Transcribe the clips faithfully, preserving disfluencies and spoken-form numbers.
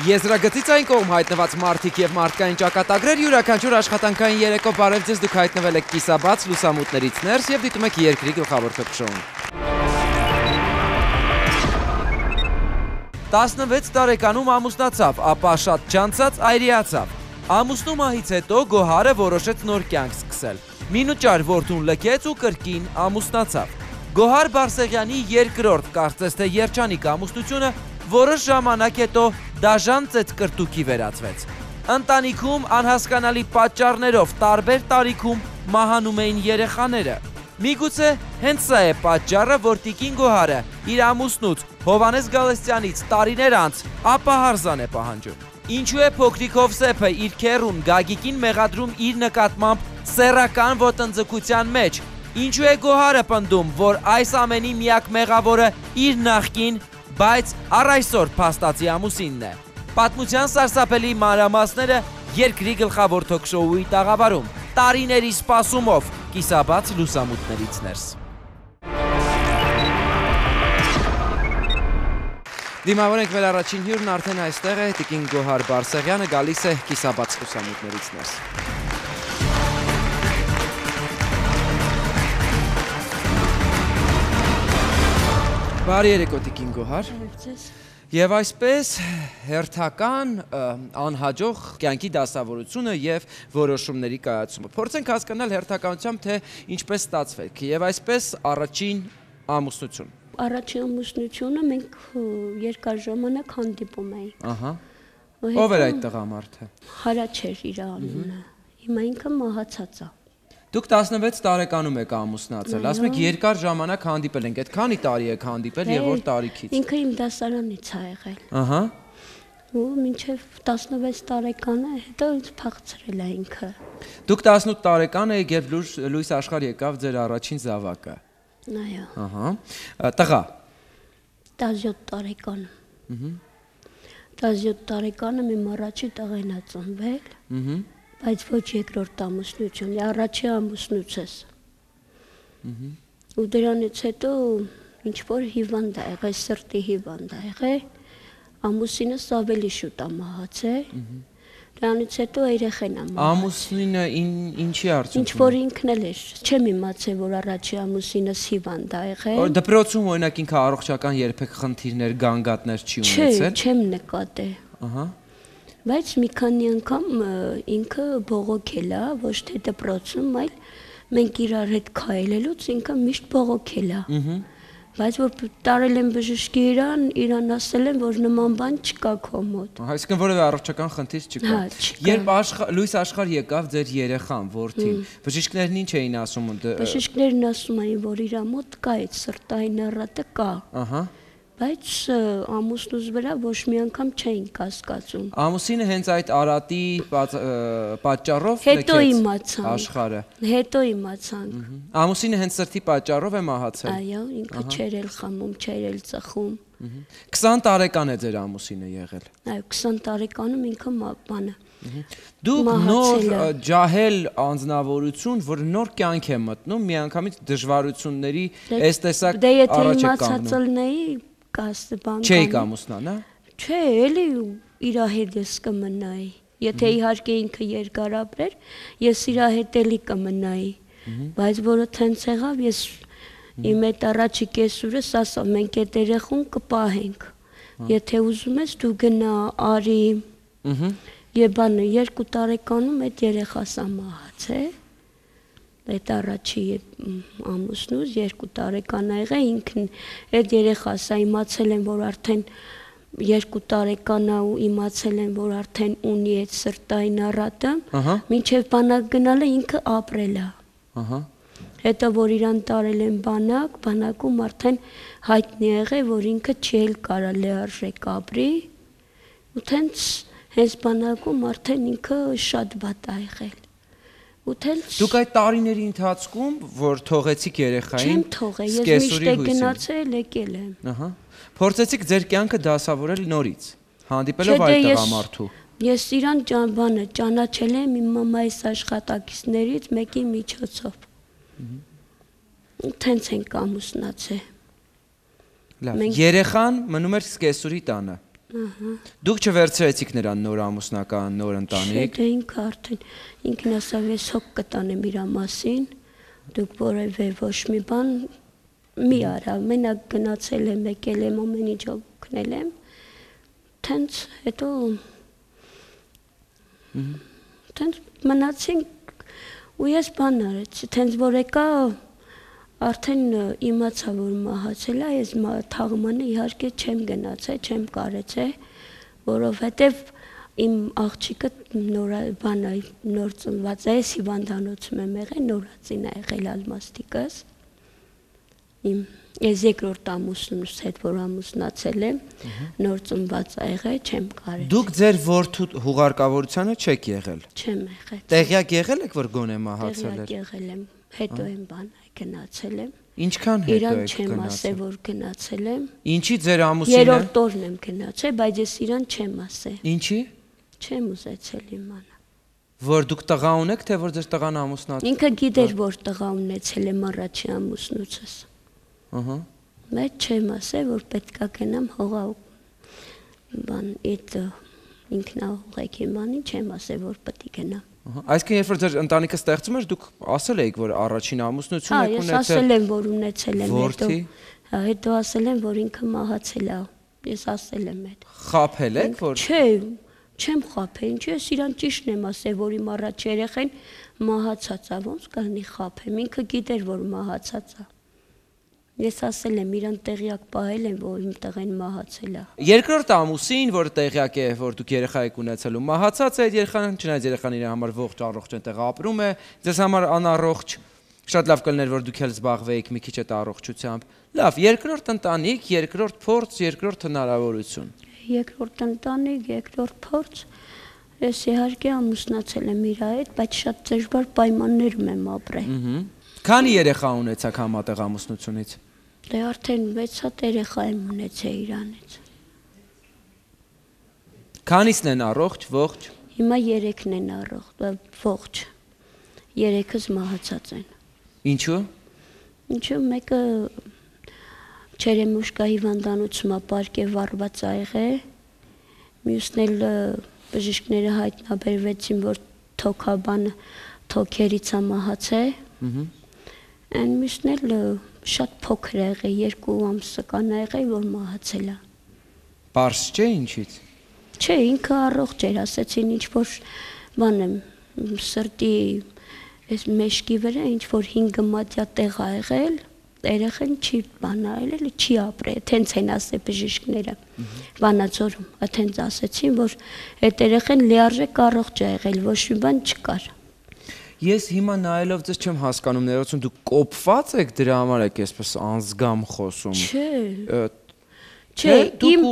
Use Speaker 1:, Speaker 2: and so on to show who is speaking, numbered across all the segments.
Speaker 1: Եզրագծից այն կողմ հայտնված մարդիկ և մարդկային ճակատագրեր յուրաքանչյուր աշխատանքային երեկո բարև ձեզ, դուք հայտնվել եք կիսաբաց լուսամուտներից ներս և դիտում եք երկրի գլխավոր թոք-շոուն։ տասնվեց տարեկանում ամուսնացավ, ապա շատ չանցած այրիացավ։ Ամուսնու մահից հետո Գոհարը որոշեց նոր կյանք սկսել։ Մինուճար որդուն լքեց ու կրկին ամուսնացավ։ Գոհար Բարսեղյանի երկրորդ, կարծես թե երջանիկ ամուսնությունը որոշ ժամանակ հետո դաժան ծեծկրտուքի վերածվեց։ Ընտանիքում անհասկանալի պատճառներով տարբեր տարիքում մահանում էին երեխաները։ Միգուցե հենց սա է պատճառը, որ տիկին Գոհարը իր ամուսնուց Հովհաննես Գալստյանից տարիներ անց ապահարզան է պահանջում։ Ինչու է փոքրիկ Հովսեփը իր քեռուն Գագիկին մեղադրում իր նկատմամբ սեռական ոտնձգության մեջ։ Ինչու է Գոհարը պնդում, որ այս ամենի միակ մեղավորը իր նախկին, բայց առ այսօր փաստացի ամուսինն է։ Պատմության սարսափելի մանրամասները երկրի գլխավոր թոք-շոուի տաղավարում, տարիների սպասումով կիսաբաց լուսամուտներից ներս։ Դիմավոր ենք մեր առաջին հյուրն արդեն այստեղ է, տիկին Գոհար Բարսեղյանը գալիս է կիսաբաց լուսամուտներից ներս։ Բարի երեկո տիկին Գոհար։ Եվ այսպես հերթական անհաջող կյանքի դասավորությունը և որոշումների կայացումը։ Փորձենք հասկանալ հերթականությամբ, թե ինչպես ստացվեք և այսպես առաջին ամուսնություն։
Speaker 2: Առաջին ամուսնությունը մենք երկար ժամանակ հանդիպում էինք։
Speaker 1: Ով էր այդ տղամարդը։
Speaker 2: Հարաչ էր իր անունը, հիմա ինքը մահացած է։
Speaker 1: Դուք տասնվեց տարեկանում եք ամուսնացել, ասում եք երկար ժամանակ հանդիպել ենք, այդ քանի տարի եք հանդիպել և որ տարիքից։
Speaker 2: Ինքը իմ դասարանից է եղել։
Speaker 1: Ահա։
Speaker 2: Ու մինչև տասնվեց տարեկանը հետո ինձ փախցրել է ինքը։
Speaker 1: Դուք տասնութ տարեկան եք և լույս աշխարհ եկավ ձեր առաջին զավակը։
Speaker 2: Այո։
Speaker 1: Ահա։ Տղա։
Speaker 2: տասնյոթ տարեկանում։ տասնյոթ տարեկանում իմ առաջի տղեն է ծնվել։ Ահա։ Բայց ոչ երկրորդ ամուսնություն, առաջի ամուսնուցս։ Ու դրանից հետո ինչ-որ հիվանդ է եղել, սրտի հիվանդ է եղել, ամուսինս ավելի շուտ է մահացել, դրանից հետո երեխան է մահացել։
Speaker 1: Ամուսինը ինչի արդյունքում։
Speaker 2: Ինչ-որ ինքն էլ էր, չեմ իմացել, որ առաջի ամուսինս հիվանդ է եղել։
Speaker 1: Դպրոցում օրինակ ինքը առողջական երբեք խնդիրներ, գանգատներ չի ունեցել։
Speaker 2: Չէ, չեմ նկատել։
Speaker 1: Ահա։
Speaker 2: Բայց մի քանի անգամ ինքը բողոքել է, ոչ թե դպրոցում, այլ մենք իրար հետ քայլելուց ինքը միշտ բողոքել է։ Բայց որ տարել են բժշկի իրան, իրան ասել են, որ նման բան չկա քո մոտ։
Speaker 1: Այսինքն որևէ առողջական խնդիր չկա։ Երբ լույս աշխարհ եկավ ձեր երեխան, որդին, բժիշկներն ինչ էին ասում։
Speaker 2: Բժիշկներն ասում էին, որ իր մոտ կա այդ սրտային առատը կա։ Ահա։ Բայց ամուսնուց վրա ոչ մի անգամ չէին կասկածում։
Speaker 1: Ամուսինը հենց այդ արատի պատճառով
Speaker 2: հետո իմացան
Speaker 1: աշխարհը։
Speaker 2: Հետո իմացան։
Speaker 1: Ամուսինը հենց սրտի պատճառով է մահացել։
Speaker 2: Այո, ինքը չէր էլ խմում, չէր էլ ծխում։
Speaker 1: քսան տարեկան է ձեր ամուսինը եղել։
Speaker 2: Այո, քսան տարեկանում ինքը բանը։
Speaker 1: Դուք նոր ջահել անձնավորություն, որ նոր կյանք է մտնում, միանգամից դժվարությունների այս տեսակ առաջ է կանգնում։ Չէիք ամուսնան, հա։
Speaker 2: Չէ, էլի իրա հետ ես կմնայի։ Եթե իհարկե ինքը երկար ապրեր, ես իրա հետ էլի կմնայի։ Բայց որը թենց եղավ, ես իմ այդ առաջի կեսուրս ասա, մենք այդ երեխուն կպահենք։ Եթե ուզում ես դու գնա արի։ Եվ բանը երկու տարեկանում այդ երեխաս է մահացել։ Այդ առաջի ամուսնուց երկու տարեկան է եղել, ինքն այդ երեխասը իմացել են, որ արդեն երկու տարեկան է ու իմացել են, որ արդեն ունի այդ սրտային առատը, մինչև բանակ գնալը ինքը ապրել է։ Հետո որ իրան տարել են բանակ, բանակում արդեն հայտնի եղել, որ ինքը չի էլ կարա լիարժեք ապրի, ու թենց հենց բանակում արդեն ինքը շատ վատ է եղել։
Speaker 1: Դուք այդ տարիների ընթացքում, որ թողեցիք երեխային,
Speaker 2: չեմ թողել, ես միշտ է գնացել, եկել եմ։
Speaker 1: Փորձեցիք ձեր կյանքը դասավորել նորից, հանդիպելով այդ տղամարդու։
Speaker 2: Ես իրան բանը ճանաչել եմ իմ մամայիս աշխատակիցներից մեկի միջոցով։ Թենց ենք ամուսնացել։
Speaker 1: Երեխան մնում էր սկեսուրի տանը։ Դուք չվերցրեցիք նրան նոր ամուսնական, նոր ընտանիք։
Speaker 2: Չէ, ինքը արդեն ինքն ասավ, ես հոգ կտանեմ իր մասին, դուք որևէ ոչ մի բան մի արա, մենակ գնացել եմ, եկել եմ, ամեն ինչ օգնել եմ, տենց հետո տենց մնացինք ու ես բան արեցի, տենց որ եկա արդեն իմացա, որ մահացել է, ես թաղմանը իհարկե չեմ գնացել, չեմ կարեցել, որովհետև իմ աղջիկը նոր բան է, նոր ծնված է, ես հիվանդանոցում եմ եղել, նորածին է եղել Ալմաստիկս, ես երկրորդ ամուսնուս հետ, որ ամուսնացել եմ, նոր ծնված է եղել, չեմ կարել։
Speaker 1: Դուք ձեր որդու հուղարկավորությանը չեք եղել։
Speaker 2: Չեմ եղել։
Speaker 1: Տեղյակ եղել եք, որ գոնե մահացել էր։
Speaker 2: Տեղյակ եղել եմ, հետո եմ բան գնացել եմ։
Speaker 1: Ինչքան հետո
Speaker 2: Իրան
Speaker 1: եք
Speaker 2: չեմ ասել,
Speaker 1: գնացել։
Speaker 2: որ գնացել եմ։
Speaker 1: Ինչի ձեր ամուսինը։
Speaker 2: Երրորդ օրն եմ գնացել, բայց ես իրան չեմ ասել։
Speaker 1: Ինչի։
Speaker 2: Չեմ ուզեցել իմանալ։
Speaker 1: Որ դուք տղա ունեք, թե որ ձեր տղան ամուսնացել։
Speaker 2: Ինքը գիտեր, որ տղա ունեցել եմ առաջի ամուսնուցս։
Speaker 1: Ահա։
Speaker 2: Բայց չեմ ասել, որ պետքա գնամ հողա բան այդ ինքնահողեք իմանի, չեմ ասել, որ պետք է գնամ։
Speaker 1: Այսինքն երբ որ ձեր ընտանիքը ստեղծում էր, դուք ասել էիք, որ առաջին ամուսնություն
Speaker 2: Հա,
Speaker 1: եք
Speaker 2: ես
Speaker 1: ունեցել։
Speaker 2: ասել եմ, որ ունեցել եմ, հետո
Speaker 1: Որդի։
Speaker 2: հա, հետո ասել եմ, որ ինքը մահացել է։ Ես ասել եմ այդ։
Speaker 1: Խաբել եք, որ
Speaker 2: Չէ, չեմ խաբել, ինչու ես իրան ճիշտն եմ ասել, որ իմ առաջ երեխեն մահացած է, ոնց կանի խաբեմ, ինքը գիտեր, որ մահացած է։ Ես ասել եմ, իրան տեղյակ պահել եմ, որ իմ տղեն մահացել է։
Speaker 1: երկրորդ ամուսին, որ տեղյակ է, որ դուք երեխա եք ունեցել ու մահացած է այդ երեխան, չնայած երեխան իր համար ողջ առողջ այնտեղ ապրում է, ձեզ համար անառողջ, շատ լավ կլիներ, որ դուք էլ զբաղվեիք մի քիչ այդ առողջությամբ։ Լավ, երկրորդ ընտանիք, երկրորդ փորձ, երկրորդ հնարավորություն։
Speaker 2: Երկրորդ ընտանիք, երկրորդ փորձ, ես իհարկե ամուսնացել եմ իր հետ, բայց շատ դժվար պայմաններում եմ ապրել։
Speaker 1: Քանի երեխա ունեցաք համատեղ ամուսնությունից։
Speaker 2: Դե արդեն վեց հատ երեխա եմ ունեցել իրանից։
Speaker 1: Քանիսն են առողջ, ողջ։
Speaker 2: Հիմա երեքն են առողջ, ողջ։ Երեքս մահացած են։
Speaker 1: Ինչու։
Speaker 2: Ինչու մեկը չերեմուշկա հիվանդանոցում ապարկե վառված ա եղել, մյուսն էլ բժիշկները հայտնաբերվեցին, որ թոքաբանը թոքերից ա մահացել։ Այն մյուսն էլ շատ փոքր է եղել, երկու ամսը կան ա եղել, որ մահացել է։
Speaker 1: Պարզ չէ ինչից։
Speaker 2: Չէ, ինքը առողջ էր, ասեցին ինչ որ բան եմ, սրտի այս մեջքի վրա ինչ որ հինգ մատյա տեղ ա եղել, երեխան չի բանալ, էլի չի ապրել, թենց են ասել բժիշկները։ Վանաձորում, այդտենց ասեցին, որ այդ երեխան լիարժեք առողջ է եղել, ոչ մի բան չկար։
Speaker 1: Ես հիմա նայելով ձեզ չեմ հասկանում, ներողություն, դուք կոփված եք դրա համար եք այսպես անզգամ խոսում։
Speaker 2: Չէ։ Չէ, իմ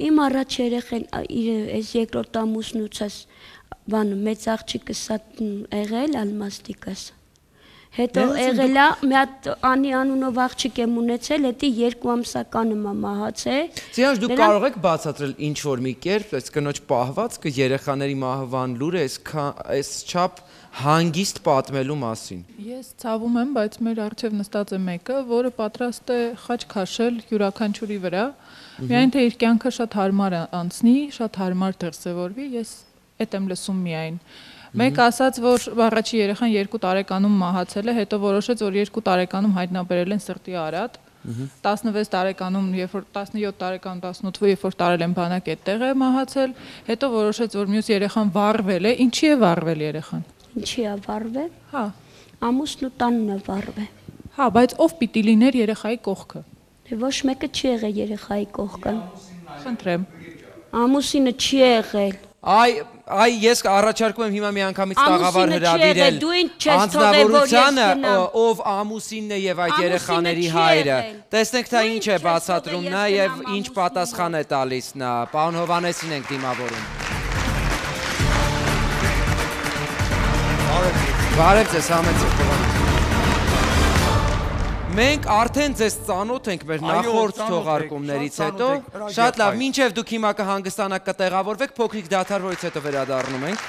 Speaker 2: իմ առաջ երեխան այս երկրորդ ամուսնուցս բան մեծ աղջիկս եղել Ալմաստիկս։ Հետո եղել է մի հատ Անի անունով աղջիկ եմ ունեցել, հետի երկու ամսականը մահացել։
Speaker 1: Սիրան, դուք կարող եք բացատրել ինչ որ մի կերպ, այս կնոջ պահվածքը երեխաների մահվան լուրը այս չափ հանգիստ պատմելու մասին։
Speaker 3: Ես ցավում եմ, բայց մեր առջև նստած է մեկը, որը պատրաստ է խաչ քաշել յուրաքանչյուրի վրա, միայն թե իր կյանքը շատ հարմար անցնի, շատ հարմար դրսևորվի, ես այդ եմ լսում միայն։ Մեկ ասաց, որ առաջի երեխան երկու տարեկանում մահացել է, հետո որոշեց, որ երկու տարեկանում հայտնաբերել են սրտի արատ, տասնվեց տարեկանում, երբ որ տասնյոթ տարեկանում, տասնութ, երբ որ տարել են բանակ այդտեղ է մահացել, հետո որոշեց, որ մյուս երեխան վառվել է, ինչի է վառվել երեխան։
Speaker 2: Ինչի է վառվել։
Speaker 3: Հա։
Speaker 2: Ամուսնու տանն է վառվել։
Speaker 3: Հա, բայց ով պիտի լիներ երեխայի կողքը։
Speaker 2: Դե ոչ մեկը չի եղել երեխայի կողքը։
Speaker 3: Խնդրեմ։
Speaker 2: Ամուսինը չի եղել։
Speaker 1: Այ, այ ես առաջարկում եմ հիմա մի անգամից տաղավար հրավիրել
Speaker 2: անձնավորությանը,
Speaker 1: ով ամուսինն է եւ այդ երեխաների հայրը։ Տեսնենք թե ինչ է բացատրում նա եւ ինչ պատասխան է տալիս նա։ Պարոն Հովհաննեսին ենք դիմավորում։ Բարև ձեզ, համեցեք Հովհաննես։ Մենք արդեն ձեզ ծանոթ ենք մեր նախորդ թողարկումներից հետո։ Շատ լավ, մինչև դուք հիմա կհանգստանաք կտեղավորվեք, փոքրիկ դադար, որից հետո վերադառնում ենք։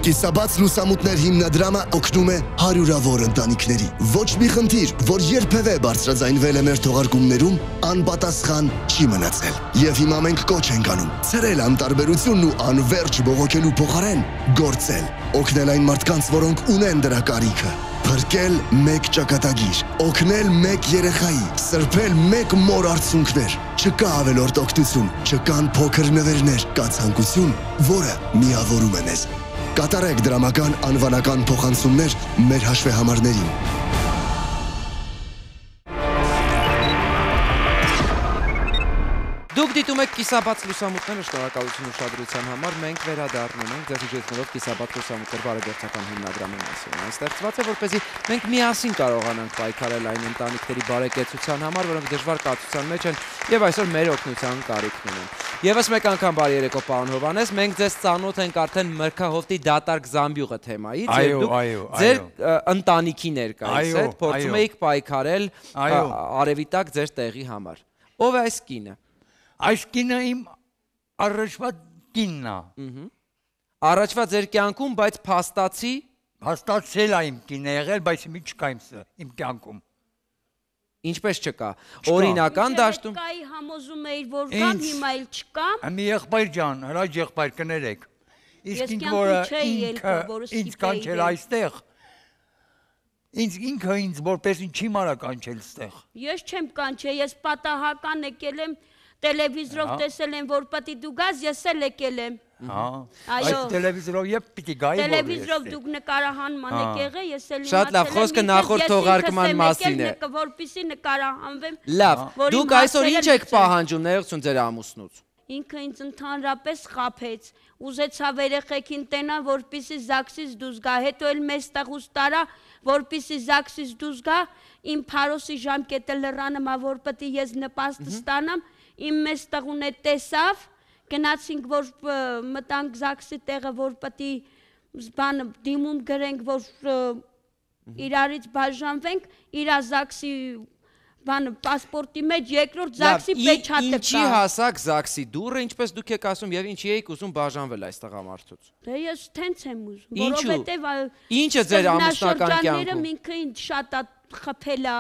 Speaker 4: Կիսաբաց լուսամուտներ հիմնադրամը օգնում է հարյուրավոր ընտանիքների։ Ոչ մի խնդիր, որ երբևէ բարձրաձայնվել է մեր թողարկումներում, անպատասխան չի մնացել։ Եվ հիմա մենք կոչ ենք անում ցրել անտարբերությունն ու անverջ բողոքելու փոխարեն գործել, օգնել այն մարդկանց, որոնք ունեն դրա կարիքը։ Փրկել մեկ ճակատագիր, օգնել մեկ երեխայի, սրբել մեկ մոր արցունքներ։ Չկա ավելորդ օգնություն, չկան փոքր նվերներ, կա ցանկություն, որը միավորում է մեզ։ Կատարեք դրամական անվանական փոխանցումներ մեր հաշվեհամարներին։
Speaker 1: Դուք դիտում եք կիսաբաց լուսամուտները, շնորհակալություն ուշադրության համար, մենք վերադառնում ենք ձեզ հիշեցնելով կիսաբաց լուսամուտներ բարեգործական հիմնադրամի մասին։ Այն ստեղծված է, որպեսզի մենք միասին կարողանանք պայքարել այն ընտանիքների բարեկեցության համար, որոնք դժվար կացության մեջ են եւ այսօր մեր օգնության կարիքն ունեն։ Եվս մեկ անգամ բարի երեկո, պարոն Հովհաննես, մենք ձեզ ծանոթ ենք արդեն Մրգահովտի դատարկ Զամբյուղը թեմայից եւ դուք ձեր ընտանիքի ներկայից եք, փորձում եք պայքարել արևիտակ ձեր տեղի համար։ Ով է այս կինը։
Speaker 5: Այս կինը իմ առաջվա կինն է։
Speaker 1: Առաջվա ձեր կյանքում, բայց փաստացի
Speaker 5: Փաստացել է իմ կինը եղել, բայց մի չկա իմ կյանքում։
Speaker 1: Ինչպես չկա։ Օրինական դաշտում։
Speaker 2: Կայի համոզում էիր, որ կան, հիմա էլ չկա։
Speaker 5: Մի եղբայր ջան, հրաժ եղբայր կներեք։ Իսկ ինձ որը ինձ կանչել այստեղ, ինձ ինքը ինձ որպես ինչի մարա կանչել ստեղ։
Speaker 2: Ես չեմ կանչել, ես պատահական եկել եմ, տելևիզորով տեսել եմ, որ պիտի դու գաս, ես էլ եկել եմ։
Speaker 5: Այս տելևիզորով եփ պիտի գայի որ։
Speaker 2: Տելևիզորով դուք նկարահանման եք եղել, ես էլ
Speaker 1: Շատ լավ, խոսքը նախորդ թողարկման մասին է։
Speaker 2: Որպեսզի նկարահանվեմ։
Speaker 1: Լավ, դուք այսօր ինչ եք պահանջում ներողություն ձեր ամուսնուց։
Speaker 2: Ինքը ինձ ընդհանրապես խաբեց, ուզեցավ երեխեքին տենա, որպեսզի Զաքսից դուրս գա, հետո էլ մեզ տղուս տարա, որպեսզի Զաքսից դուրս գա, իմ Փարոսի ժամկետը լռանում ա, որ պետք է ես նպաստ ստանամ, իմ մեզ տղուն է տեսավ, գնացինք, որ մտանք Զաքսի տեղը, որ պետք է բան դիմում գրենք, որ իրարից բաժանվենք, իրա Զաքսի բանը պասպորտի մեջ երկրորդ Զաքսի պեչատը կա։
Speaker 1: Ինչի հասակ Զաքսի դուրը, ինչպես դուք եք ասում, եւ ինչի եք ուզում բաժանվել այս տղամարդուց։
Speaker 2: Դե ես տենց եմ ուզում, որովհետեւ
Speaker 1: Ինչը ձեր ամուսնական կյանքում։
Speaker 2: Ինքը ինձ շատ խփել է։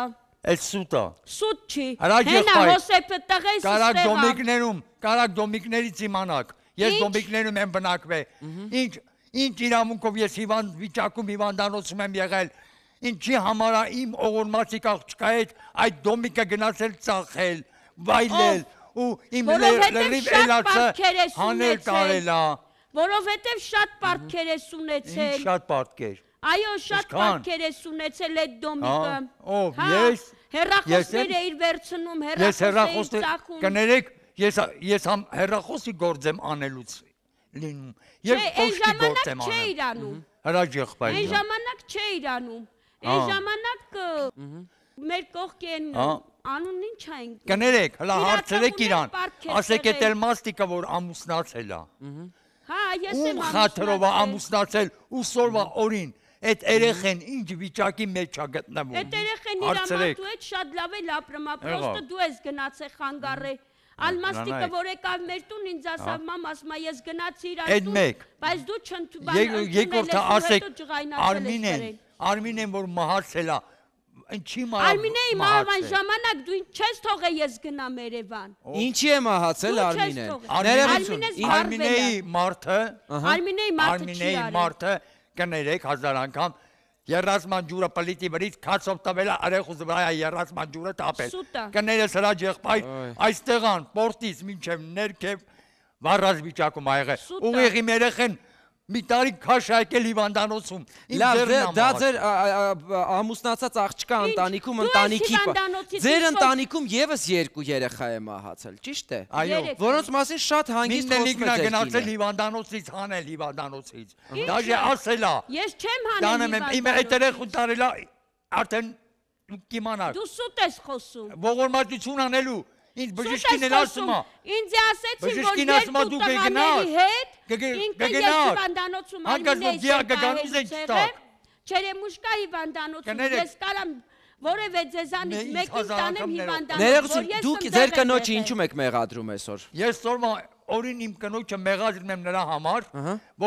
Speaker 5: Այդ սուտ է։
Speaker 2: Սուտ չի։
Speaker 5: Հենա
Speaker 2: Հոսեփը տղես
Speaker 5: Կարակ դոմիկներում, կարակ դոմիկներից իմանաք։ Ես դոմիկներում եմ բնակվել։ Ինչ ինչ իրավունքով ես հիվանդ վիճակում հիվանդանոցում եմ եղել։ Ինչի համար է իմ օղորմացիկ աղջկա հետ այդ դոմիկը գնացել ծախել, վայլել ու իմ լրիվ էլացը հանել տարել է։
Speaker 2: Որովհետև շատ պարտքեր ես ունեցել։
Speaker 5: Ինչ շատ պարտքեր։
Speaker 2: Այո, շատ պարտքեր ես ունեցել այդ դոմիկը։
Speaker 5: Ով, ես։
Speaker 2: Հեռախոսներ էիր վերցնում, հեռախոս էիր ծախում։
Speaker 5: Կներեք, ես հեռախոսի գործ եմ անելուց լինում։ Եվ փոստի գործ եմ անում։ Հրաժ եղբայր ջան։
Speaker 2: Այն ժամանակ չէիր անում։ Այն ժամանակ մեր կողքի են անուն ինչ այն։
Speaker 5: Կներեք, հլա հարցրեք իրան, ասեք էդ էլ մաստիկը, որ ամուսնացել է։
Speaker 2: Հա, ես եմ
Speaker 5: ամուսնացել։ Ամուսնացել ու սորվա օրին, այդ երեխեն ինչ վիճակի մեջ է գտնվում։
Speaker 2: Այդ երեխեն իր ամատու հետ շատ լավ էլ ապրում, պրոստը դու ես գնացել խանգարե։ Ալմաստիկը, որ եկավ մեր տուն, ինձ ասավ, մամ, ասում է, ես գնացի իր տուն, բայց դու
Speaker 5: չընդունել Արմինեն, որ մահացել է, ինչի
Speaker 2: Արմինեի մահվան ժամանակ դու չես թողել ես գնամ Երևան։
Speaker 1: Ինչի է մահացել Արմինեն։
Speaker 5: Արմինեի մարդը,
Speaker 2: Արմինեի մարդը չի արել։
Speaker 5: Մարդը կներեք հազար անգամ երազման ջուրը պլիտի վրից քացով տվել է արեխուս վրա երազման ջուրը տապել։ Կներես հրաժ եղբայր, այստեղան պորտից մինչև ներքև վառած վիճակում ա եղել։ Ուղիղ իմ երեխեն մի տարի քաշ եկել հիվանդանոցում։
Speaker 1: Լավ, դա ձեր ամուսնացած աղջկա ընտանիքում ընտանիքի։ Ձեր ընտանիքում եւս երկու երեխա է մահացել, ճիշտ է։
Speaker 5: Այո։
Speaker 1: Որոնց մասին շատ հանգիստ խոսում եք։
Speaker 5: Գնացել հիվանդանոցից հանել հիվանդանոցից։ Դաժե ասել է։
Speaker 2: Ես չեմ հանել հիվանդանոցից։
Speaker 5: Իմ այդ երեխուն տարել է արդեն դուք կիմանաք։
Speaker 2: Դու սուտ ես խոսում։
Speaker 5: Ողորմածություն անելու։ Ինձ բժիշկին էլ ասում է։
Speaker 2: Ինձ ասեցին, որ երկու տղաների հետ ինքը ես հիվանդանոցում Արմինեի եղել, Չերեմուշկա հիվանդանոցում, ես կարամ որևէ ձեզանից մեկին տանեմ հիվանդանոց,
Speaker 1: Ներողություն, դուք ձեր կնոջը ինչու եք մեղադրում այսօր։
Speaker 5: Ես օրվա օրին իմ կնոջը մեղադրում եմ նրա համար,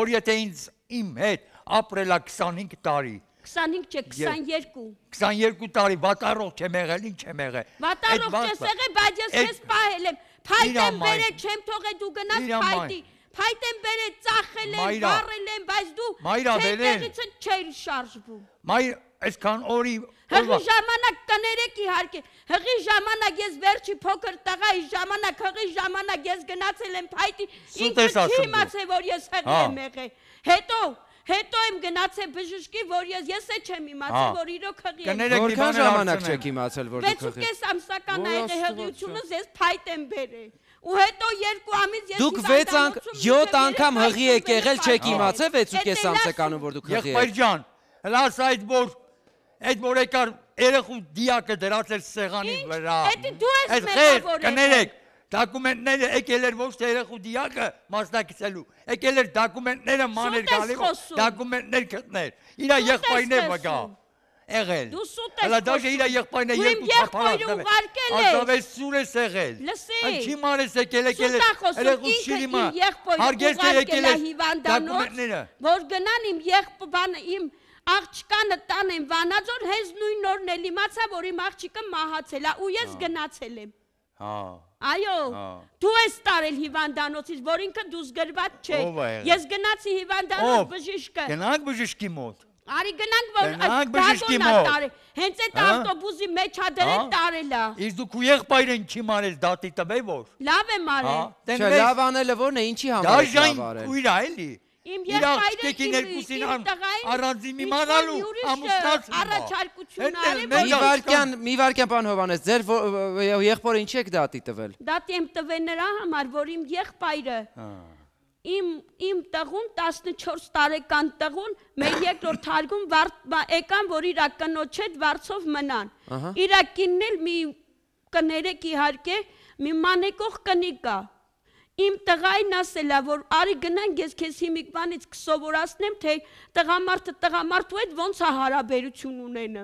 Speaker 5: որ եթե ինձ իմ հետ ապրելա քսանհինգ տարի։
Speaker 2: քսանհինգ չէ, քսաներկու։
Speaker 5: քսաներկու տարի վատառողջ եմ եղել, ինչ եմ եղել։
Speaker 2: Վատառողջ ես եղել, բայց ես քեզ պահել եմ։ Փայտ եմ բերել, չեմ թողել դու գնաս փայտի։ Փայտ եմ բերել, ծախել եմ, վառել եմ, բայց դու տեղից չէիր շարժվում։
Speaker 5: Մայր, այսքան օրի
Speaker 2: Հղի ժամանակ կներեք իհարկե, հղի ժամանակ ես վերջի փոքր տղայի ժամանակ, հղի ժամանակ ես գնացել եմ փայտի, ինքը չի իմացել, որ ես հղի եմ եղել։ Հետո, հետո եմ գնացել բժշկի, որ ես ես է չեմ իմացել, որ իրոք հղի եմ։
Speaker 1: Որքան ժամանակ չեք իմացել, որ դուք հղի։
Speaker 2: վեցուկես ամսական ա եղել հղիությունս, ես փայտ եմ բերել։ Ու հետո երկու ամիս ես
Speaker 1: Դուք վեց յոթ անգամ հղի եք եղել, չեք իմացել վեցուկես ամսականում, որ դուք հղի եք։
Speaker 5: Եղբայր ջան, հլաս այդ որ Այդ որ եկար երեխու դիակը դրացել սեղանի վրա։
Speaker 2: Էդի դու ես մետավոր
Speaker 5: կներեք, դակումենտները եկել էր ոչ թե երեխու դիակը մասնակցելու, եկել էր դակումենտները մաներ գալի, դակումենտներ գտներ, իրա եղբայրն է վգա, եղել։ Հլա դաշը իրա եղբայրն է երկու թափարակ տվել, ազավես սուր ես եղել, ինչի մանես եկել, եկել էր երեխու շիրիմա, հարգես է եկել էր դակումենտները։
Speaker 2: Որ գնան իմ եղբայրը իմ աղջկանը տանեմ Վանաձոր, հենց նույն օրն էլ իմացա, որ իմ աղջիկը մահացել է ու ես գնացել եմ։ Այո, դու ես տարել հիվանդանոցից, որ ինքը դուս գրված չէ։ Ես գնացի հիվանդանոց բժիշկը։
Speaker 5: Գնանք բժշկի մոտ։
Speaker 2: Արի գնանք, որ դագոնա տարել։ Հենց այդ ավտոբուսի մեջ ադրել տարել է։
Speaker 5: Իսկ դու քու եղբայրն չի մանես դատի տվե որ։
Speaker 2: Լավ եմ արել։
Speaker 1: Չէ, լավ անելը որն է, ինչի համար եք լավ արել։
Speaker 5: Ու իրա էլի։
Speaker 2: Իմ եղբայրը իմ
Speaker 5: առանձին իմանալու ամուսնացում
Speaker 2: առաջարկություն արել։
Speaker 1: Մի վարքյան, մի վարքյան պարոն Հովհաննես, ձեր եղբորը ինչ եք դատի տվել։
Speaker 2: Դատի եմ տվել նրա համար, որ իմ եղբայրը իմ տղուն տասնչորս տարեկան տղուն մեր երկրորդ հարգում եկան, որ իրա կնոջ հետ վարձով մնան։ Իրա կինն էլ մի կներեք իհարկե, մի մանեկող կնիկ է։ Իմ տղային ասել է, որ արի գնանք ես քեզ հիմիկվանից կսովորացնեմ, թե տղամարդը տղամարդու հետ ոնց է հարաբերություն ունենը։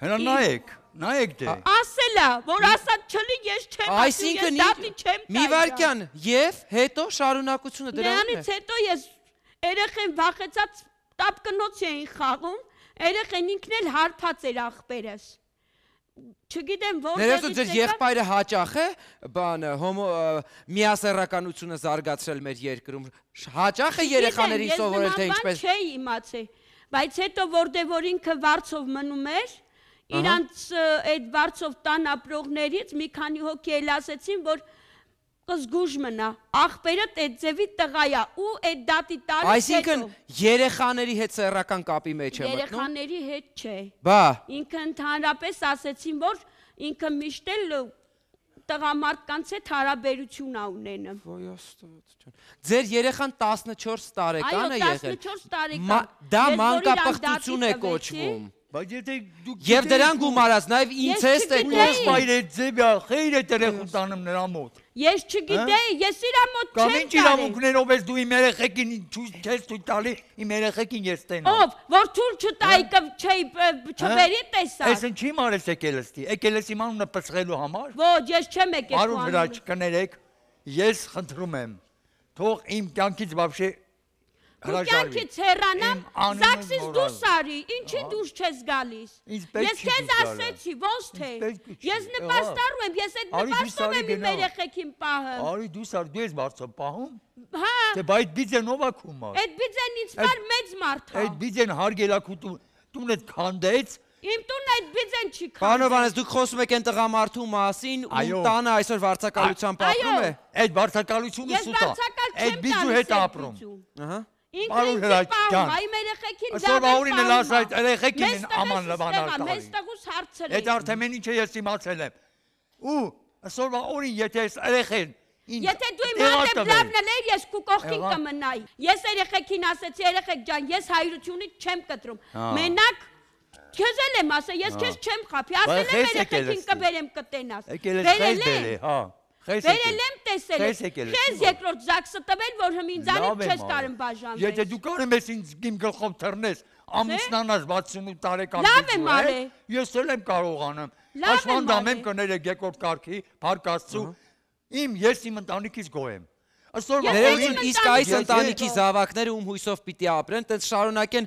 Speaker 5: Հələ նայեք, նայեք դե։
Speaker 2: Ասել է, որ ասած չլի ես չեմ ասում, ես դատի չեմ տա։
Speaker 1: Մի վարքյան, եւ հետո շարունակությունը դրանն է։
Speaker 2: Դրանից հետո ես երեխեն վախեցած տապկնոց էին խաղում, երեխեն ինքն էլ հարբած էր աղբերս։ Չգիտեմ որտեղից
Speaker 1: Ներեցու ձեր եղբայրը հաճախ է բանը հոմո միասեռականությունը զարգացրել մեր երկրում հաճախ է երեխաներին սովորել թե ինչպես
Speaker 2: չէի իմացել բայց հետո որտեղ որ ինքը վարձով մնում էր իրանց այդ վարձով տան ապրողներից մի քանի հոգի էլ ասեցին որ զգուժ մնա աղբերը այդ ձևի տղա է ու այդ դատի տարի
Speaker 1: այսինքն երեխաների հետ սեռական կապի մեջ է մտնում
Speaker 2: երեխաների հետ չէ
Speaker 1: բա
Speaker 2: ինքը ընդհանրապես ասեցին որ ինքը միշտ էլ տղամարդկանց հետ հարաբերություն ա ունենում
Speaker 1: ոյ աստված ջան ձեր երեխան տասնչորս տարեկան է եղել
Speaker 2: տասնչորս տարեկան
Speaker 1: դա մանկապղծություն է կոչվում
Speaker 5: Բայց եթե դուք
Speaker 1: Եվ դրան գումարած, նաև ինցեստ է կոչվում։
Speaker 5: Բայց այդ ձևը խեյր է երեխուն տանում նրա մոտ։
Speaker 2: Ես չգիտեի, ես իր մոտ չեմ
Speaker 5: տալի։ Կամ ինչ իրավունքներով ես դու իմ երեխեքին չես թույլ տալի, իմ երեխեքին ես տենամ։
Speaker 2: Ով, որ թույլ չտայի չէի չբերի տեսա։
Speaker 5: Այս ինչի մարես եկել էստի։ Եկել ես իմ անունը պսղելու համար։
Speaker 2: Ոչ, ես չեմ եկել։
Speaker 5: Արու վրա չկներեք, ես խնդրում եմ, թող իմ կյանքից բավշե
Speaker 2: Կյանքից հեռանամ, Զաքսից դուրս արի, ինչի դուրս չես գալիս։ Ես քեզ ասեցի, ոնց թե։ Ես նպաստառում եմ, ես այդ նպաստով եմ իմ երեխեքին պահում։
Speaker 5: Արի դուրս արի, դու ես բարձր պահում։
Speaker 2: Հա։
Speaker 5: Դե բայց բիձեն ով է քու մար։
Speaker 2: Այդ բիձեն ինձ մար մեծ մարդ է։
Speaker 5: Այդ բիձեն հարգելակու տունը քանդեց։
Speaker 2: Իմ տունը այդ բիձեն չի քանդել։
Speaker 1: Պարոն Հովհաննես, դուք խոսում եք այն տղամարդու մասին, ում տանը այսօր վարձակալությամբ ապրում է։
Speaker 5: Այդ վարձակալությունը սուտ է։ Այդ բիձու հետ ապրում։ Ահա։
Speaker 2: Ինքն պահում, այմ երեխեքին
Speaker 5: դավեր պահում։ Ասոր այս երեխեքին աման լվանալ տալի։
Speaker 2: Մեզ տղուս հարցել
Speaker 5: է։ Այդ արդեն ինչը ես իմացել եմ։ Ու ասոր օրին եթե այս երեխեն
Speaker 2: Եթե դու իմ հանդեպ լավն էր, ես քու կողքին կմնայի։ Ես երեխեքին ասեցի, երեխեք ջան, ես հայրությունից չեմ կտրում։ Մենակ քեզ էլ եմ ասել, ես քեզ չեմ խափի, ասել եմ երեխեքին կբերեմ կտենաս։
Speaker 5: Բերել եմ, հա։
Speaker 2: Բերել եմ տեսել եմ, քեզ երկրորդ Զաքսը տվել, որ ինձանից չես կարում բաժանվել։
Speaker 5: Եթե դու կարում ես ինձ իմ գլխով թռնես, ամուսնանաս վաթսունութ տարեկան
Speaker 2: Լավ եմ արել։
Speaker 5: Ես էլ եմ կարողանում։ Աշխվանդամ եմ կներեք երկրորդ կարգի, փառք Աստծո։ Իմ ես իմ ընտանիքից գոհ եմ։
Speaker 1: Ներողություն, իսկ այս ընտանիքի զավակները ում հույսով պիտի ապրեն, տենց շարունակեն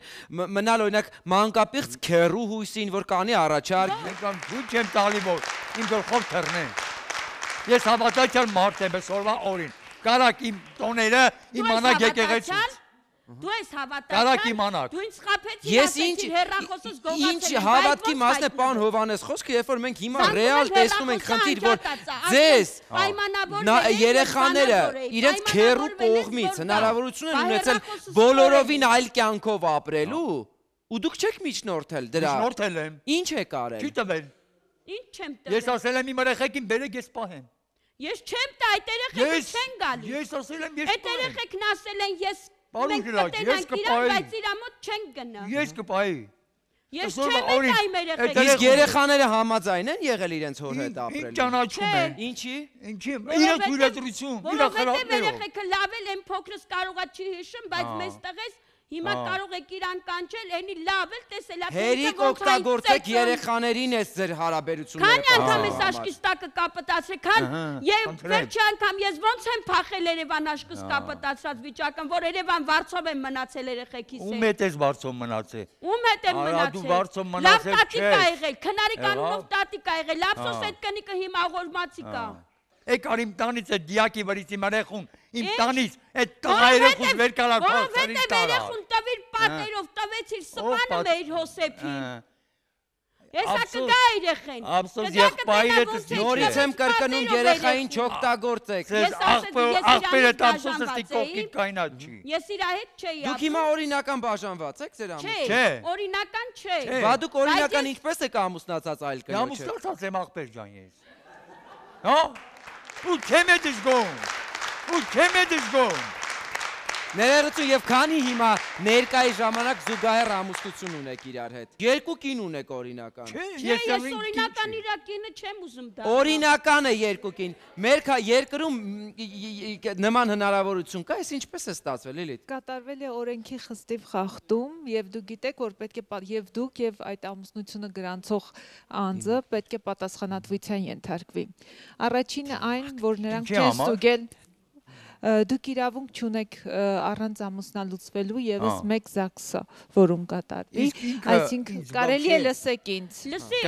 Speaker 1: մնալ օրինակ մանկապիղծ քեռու հույսին, որ կանի առաջարկ։
Speaker 5: Եկան ցույց եմ տալի, որ իմ գլխով թռնեն։ Ես հավատացյալ մարդ եմ այսօրվա օրին։ Կարակ իմ տոները իմանաք եկեղեցուց։
Speaker 2: Դու ես
Speaker 5: Կարակ իմանաք։
Speaker 2: Դու ինձ խաբեցիր,
Speaker 1: Ես
Speaker 2: ասեցիր հեռախոսս գողացել եմ,
Speaker 1: ինչ հավատքի մասն է պարոն Հովանես խոսքը, երբ որ մենք հիմա ռեալ տեսնում ենք խնդիր, որ ձեզ երեխաները իրենց քեռու կողմից հնարավորություն են ունեցել բոլորովին այլ կյանքով ապրելու, ու դուք չեք միջնորդել դրա։
Speaker 5: Միջնորդել եմ։
Speaker 1: Ինչ եք արել։
Speaker 5: Չի տվել։
Speaker 2: Ինչ չեմ տվել։
Speaker 5: Ես ասել եմ իմ երեխեքին բերեք ես պահեմ։
Speaker 2: Ես չեմ տա, այդ երեխեքը չեն գալու։
Speaker 5: Ես ասել եմ ես
Speaker 2: Այդ երեխեքն ասել են ես
Speaker 5: Պարոն Գիրակ, ես կպահեի։
Speaker 2: Բայց իրա մոտ չեն գնա։
Speaker 5: Ես կպահեի։
Speaker 2: Ես չեմ տա իմ երեխեքին։
Speaker 1: Իսկ երեխաները համաձայն են եղել իրենց հոր հետ ապրելու։
Speaker 5: Ինչ ճանաչում են։
Speaker 1: Ինչի։
Speaker 5: Ինչի։ Իրա թույլատրություն, իրա խրատներով։
Speaker 2: Երեխեքը լավ էլ են, փոքրս կարողա չի հիշում, բայց մեզ տղես հիմա կարող եք իրան կանչել, էնի լավ էլ տեսել է։
Speaker 1: Հերիք օգտագործեք երեխաներին ես ձեր հարաբերությունները։
Speaker 2: Քանի անգամ ես աշկիս տակը կապտացրել, քան եւ վերջի անգամ ես ոնց եմ փախել Երևան աշկիս կապտացրած վիճակում, որ Երևան վարձով եմ մնացել երեխեքիս հետ։
Speaker 5: Ում հետ ես վարձով մնացել։
Speaker 2: Ում հետ եմ մնացել։ Լավ տատիկ ա եղել, քնարի կանոնով տատիկ ա եղել, ափսոս այդ կնիկը հիմա աղորմացի կա։
Speaker 5: Եկար իմ տանից այդ դիակի վրից իմ երեխուն, իմ տանից այդ տղա երեխուս վեր կալար փախցրից տարա։
Speaker 2: Որովհետև երեխուն տվիր պատերով տվեցիր սպանը մեր Հոսեփին։ Հեսա կգա երեխեն։
Speaker 5: Ափսոս եղբայրը դες
Speaker 1: նորից եմ կրկնում երեխային չօգտագործեք։
Speaker 5: Ես աղբերը ափսոսը ստիկովքի կայնա չի։
Speaker 2: Ես իրա հետ չէի։
Speaker 1: Դուք հիմա օրինական բաժանված եք ձեր ամուսնու։
Speaker 2: Չէ, օրինական չէ։
Speaker 1: Բա դուք օրինական ինչպես եք ամուսնացած այլ կնոջը։
Speaker 5: Ամուսնացած եմ աղբեր ջան ես։ Հա։ Ու չեմ է դժգոհում, ու չեմ է դժգոհում։
Speaker 1: Ներողություն եւ քանի հիմա ներկայի ժամանակ զուգահեռ ամուսնություն ունեք իրար հետ։ Երկու կին ունեք օրինական։
Speaker 2: Չէ, ես օրինական իրա կինը չեմ ուզում դա։
Speaker 1: Օրինական է երկու կին։ Մեր երկրում նման հնարավորություն կա, այս ինչպես է ստացվել, Լիլիթ։
Speaker 3: Կատարվել է օրենքի խստիվ խախտում եւ դուք գիտեք, որ պետք է եւ դուք եւ այդ ամուսնությունը գրանցող անձը պետք է պատասխանատվության ենթարկվի։ Առաջինը այն, որ նրանք չեն ստուգել դուք իրավունք չունեք առանց ամուսնալուծվելու եւս մեկ ԶԱԳՍ-ը, որում կատարվի, այսինքն կարելի է լսեք ինձ։
Speaker 2: Լսի,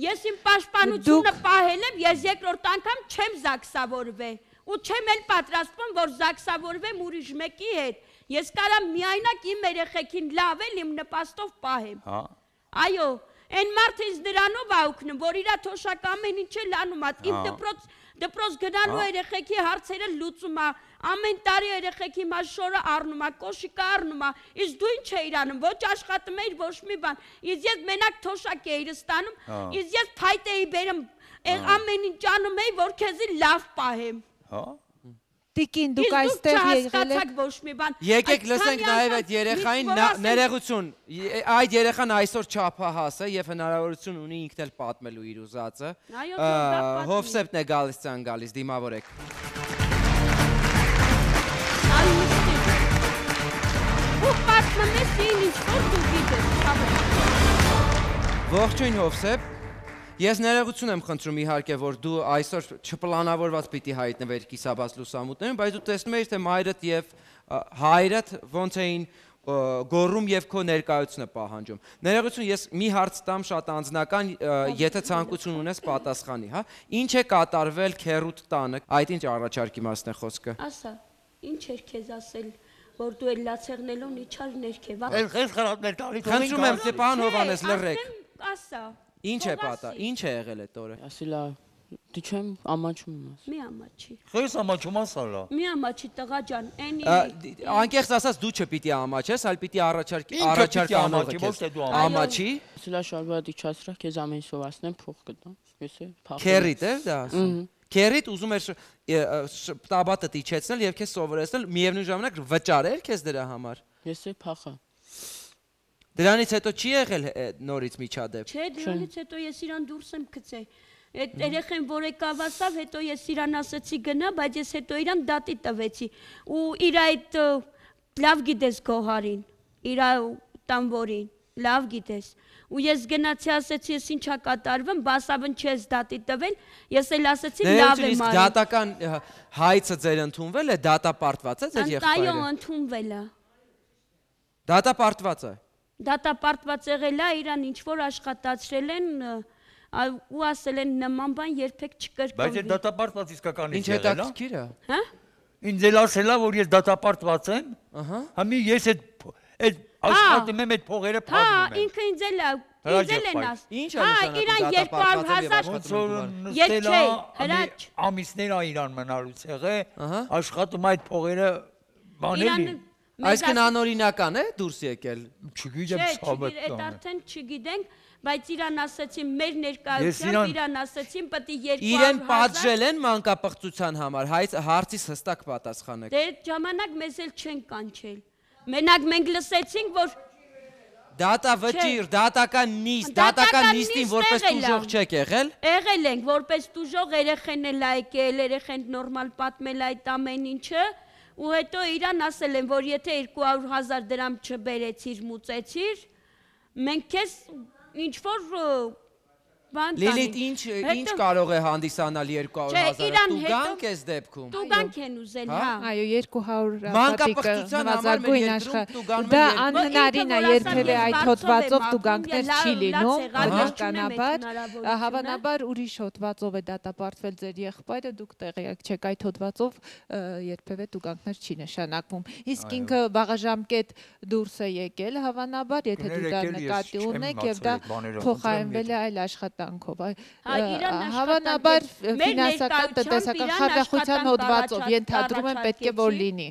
Speaker 2: ես իմ պաշտպանությունը պահել եմ, ես երկրորդ անգամ չեմ ԶԱԳՍավորվել ու չեմ էլ պատրաստվում, որ ԶԱԳՍավորվեմ ուրիշ մեկի հետ։ Ես կարամ միայնակ իմ երեխեքին լավ էլ իմ նպաստով պահեմ։ Այո, այն մարդը ինձ դրանով ա օգնում, որ իրա թոշակ ամեն ինչ էլ անում ա, իմ դպրոց դպրոց գնալու երեխեքի հարցերը լուծում ա, ամեն տարի երեխեքի մաշորը առնում ա, կոշիկը առնում ա, իսկ դու ինչ էիր անում, ոչ աշխատում էիր, ոչ մի բան, իսկ ես մենակ թոշակ էիր ստանում, իսկ ես փայտ էի բերում, ամեն ինչ անում էի, որ քեզի լավ պահեմ։
Speaker 3: Տիկին, դուք այստեղ եղել եք
Speaker 2: ոչ մի բան։
Speaker 1: Եկեք լսենք նաև այդ երեխային, ներողություն, այդ երեխան այսօր չափահաս է եւ հնարավորություն ունի ինքն էլ պատմելու իր ուզածը։ Հովսեփն է գալիս ցան գալիս, դիմավորեք։
Speaker 2: Ու պատմես ինչ որ դու գիտես։
Speaker 1: Ողջույն Հովսեփ։ Ես ներողություն եմ խնդրում իհարկե, որ դու այսօր չպլանավորված պիտի հայտնվեր կիսաբաց լուսամուտներում, բայց դու տեսնում ես, թե մայրդ եւ հայրդ ոնց էին գոռում եւ քո ներկայությունը պահանջում։ Ներողություն, ես մի հարց տամ շատ անձնական, եթե ցանկություն ունես պատասխանի, հա։ Ինչ է կատարվել քերուտ տանը։ Այդ ինչ առաջարկի մասն է խոսքը։
Speaker 2: Ասա, ինչ էր քեզ ասել, որ դու էլ լացեղնելուն իջար ներքև։
Speaker 5: Այս խրատներ տալի։
Speaker 1: Խնդրում եմ, Ստեփան Հովանես, լռեք։
Speaker 2: Ասա։
Speaker 1: Ինչ է պատա, ինչ է եղել այդ օրը։
Speaker 6: Ասիլա, դու չեմ ամաչում ես։
Speaker 2: Մի ամաչի։
Speaker 5: Խես ամաչում ասալա։
Speaker 2: Մի ամաչի տղա ջան, էնի։
Speaker 1: Անկեղծ ասած դու չպիտի ամաչես, այլ պիտի առաջարկ առաջարկանողը քեզ։ Ամաչի։
Speaker 6: Ասիլա շարվա դիչացրա քեզ ամեն սովասնեմ փող կտամ։ Ես է փախ։
Speaker 1: Քերիտ է դա ասում։ Քերիտ ուզում էր տաբատը դիչեցնել եւ քեզ սովորեցնել, միևնույն ժամանակ վճարել քեզ դրա համար։
Speaker 6: Ես է փախա։
Speaker 1: Դրանից հետո չի եղել նորից միջադեպ։
Speaker 2: Չէ, դրանից հետո ես իրան դուրս եմ գցել։ Այդ երեխեն որ եկավ ասավ, հետո ես իրան ասացի գնա, բայց ես հետո իրան դատի տվեցի։ Ու իր այդ լավ գիտես Գոհարին, իր տանվորին, լավ գիտես։ Ու ես գնացի ասեցի, ես ինչա կատարվում, բասավն չես դատի տվել, ես էլ ասեցի լավ եմ արել։
Speaker 1: Դատական հայցը ձեր ընդունվել է, դատապարտված է ձեր եղբայրը։
Speaker 2: Այո, ընդունվել է։
Speaker 1: Դատապարտված է։
Speaker 2: Դատապարտված եղել է, իրան ինչ որ աշխատացրել են ու ասել են նման բան երբեք չկրկնվի։
Speaker 5: Բայց այդ դատապարտված իսկականից
Speaker 1: Ինչ
Speaker 5: եղել է։
Speaker 1: հետաքրքիր է։
Speaker 2: Հա։
Speaker 5: Ինձ էլ ասել է, որ ես դատապարտված եմ։ Ահա։ Համի ես այդ այդ աշխատում եմ այդ փողերը
Speaker 2: Հա,
Speaker 5: փակում եմ։
Speaker 2: ինքը ինձ էլ է, ինձ էլ են ասել։
Speaker 1: Ինչ է նշանակում
Speaker 2: դատապարտված եւ
Speaker 5: Ոնց ամիսներ ա իրան մնալուց եղե, աշխատում այդ փողերը բանելի։
Speaker 1: Այսինքն անօրինական է դուրս եկել։
Speaker 5: Չգիտեմ ցավետ
Speaker 2: Այդ արդեն չգիտենք, բայց իրան ասացին մեր ներկայությամբ, իրան ասացին պետք է երկու հարյուր հազար։
Speaker 1: Իրեն պատժել են մանկապղծության համար, հարցիս հստակ պատասխանեք։
Speaker 2: Դե այդ ժամանակ մեզ էլ չեն կանչել։ Մենակ մենք լսեցինք, որ
Speaker 1: դատավճիռ, դատական նիստ, դատական նիստին որպես տուժող չեք եղել։
Speaker 2: Եղել ենք որպես տուժող, երեխեն էլ ա եկել, երեխեն նորմալ պատմել այդ ամեն ինչը, ու հետո իրան ասել են, որ եթե երկու հարյուր հազար դրամ չբերեցիր, մուծեցիր, մենք քեզ ինչ որ բան տանենք։
Speaker 1: Լիլիթ, ինչ ինչ կարող է հանդիսանալ երկու հարյուր հազարը, տուգանք ես դեպքում։
Speaker 2: Տուգանք են ուզել, հա։
Speaker 3: Այո, երկու հարյուր
Speaker 1: մանկապղծության համար մեր երկրում տուգանք։
Speaker 3: Դա անհնարին է երբևէ այդ հոդվածով տուգանքներ չի լինում, բնականաբար, հավանաբար ուրիշ հոդվածով է դատապարտվել ձեր եղբայրը, դուք տեղյակ չեք այդ հոդվածով երբևէ տուգանքներ չի նշանակվում։ Իսկ ինքը վաղաժամկետ դուրս է եկել, հավանաբար, եթե դու դա նկատի ունեք եւ դա փոխարինվել է այլ աշխատանքով, հավանաբար ֆինանսական տնտեսական խարդախության հոդվածով ենթադրում եմ պետք է որ լինի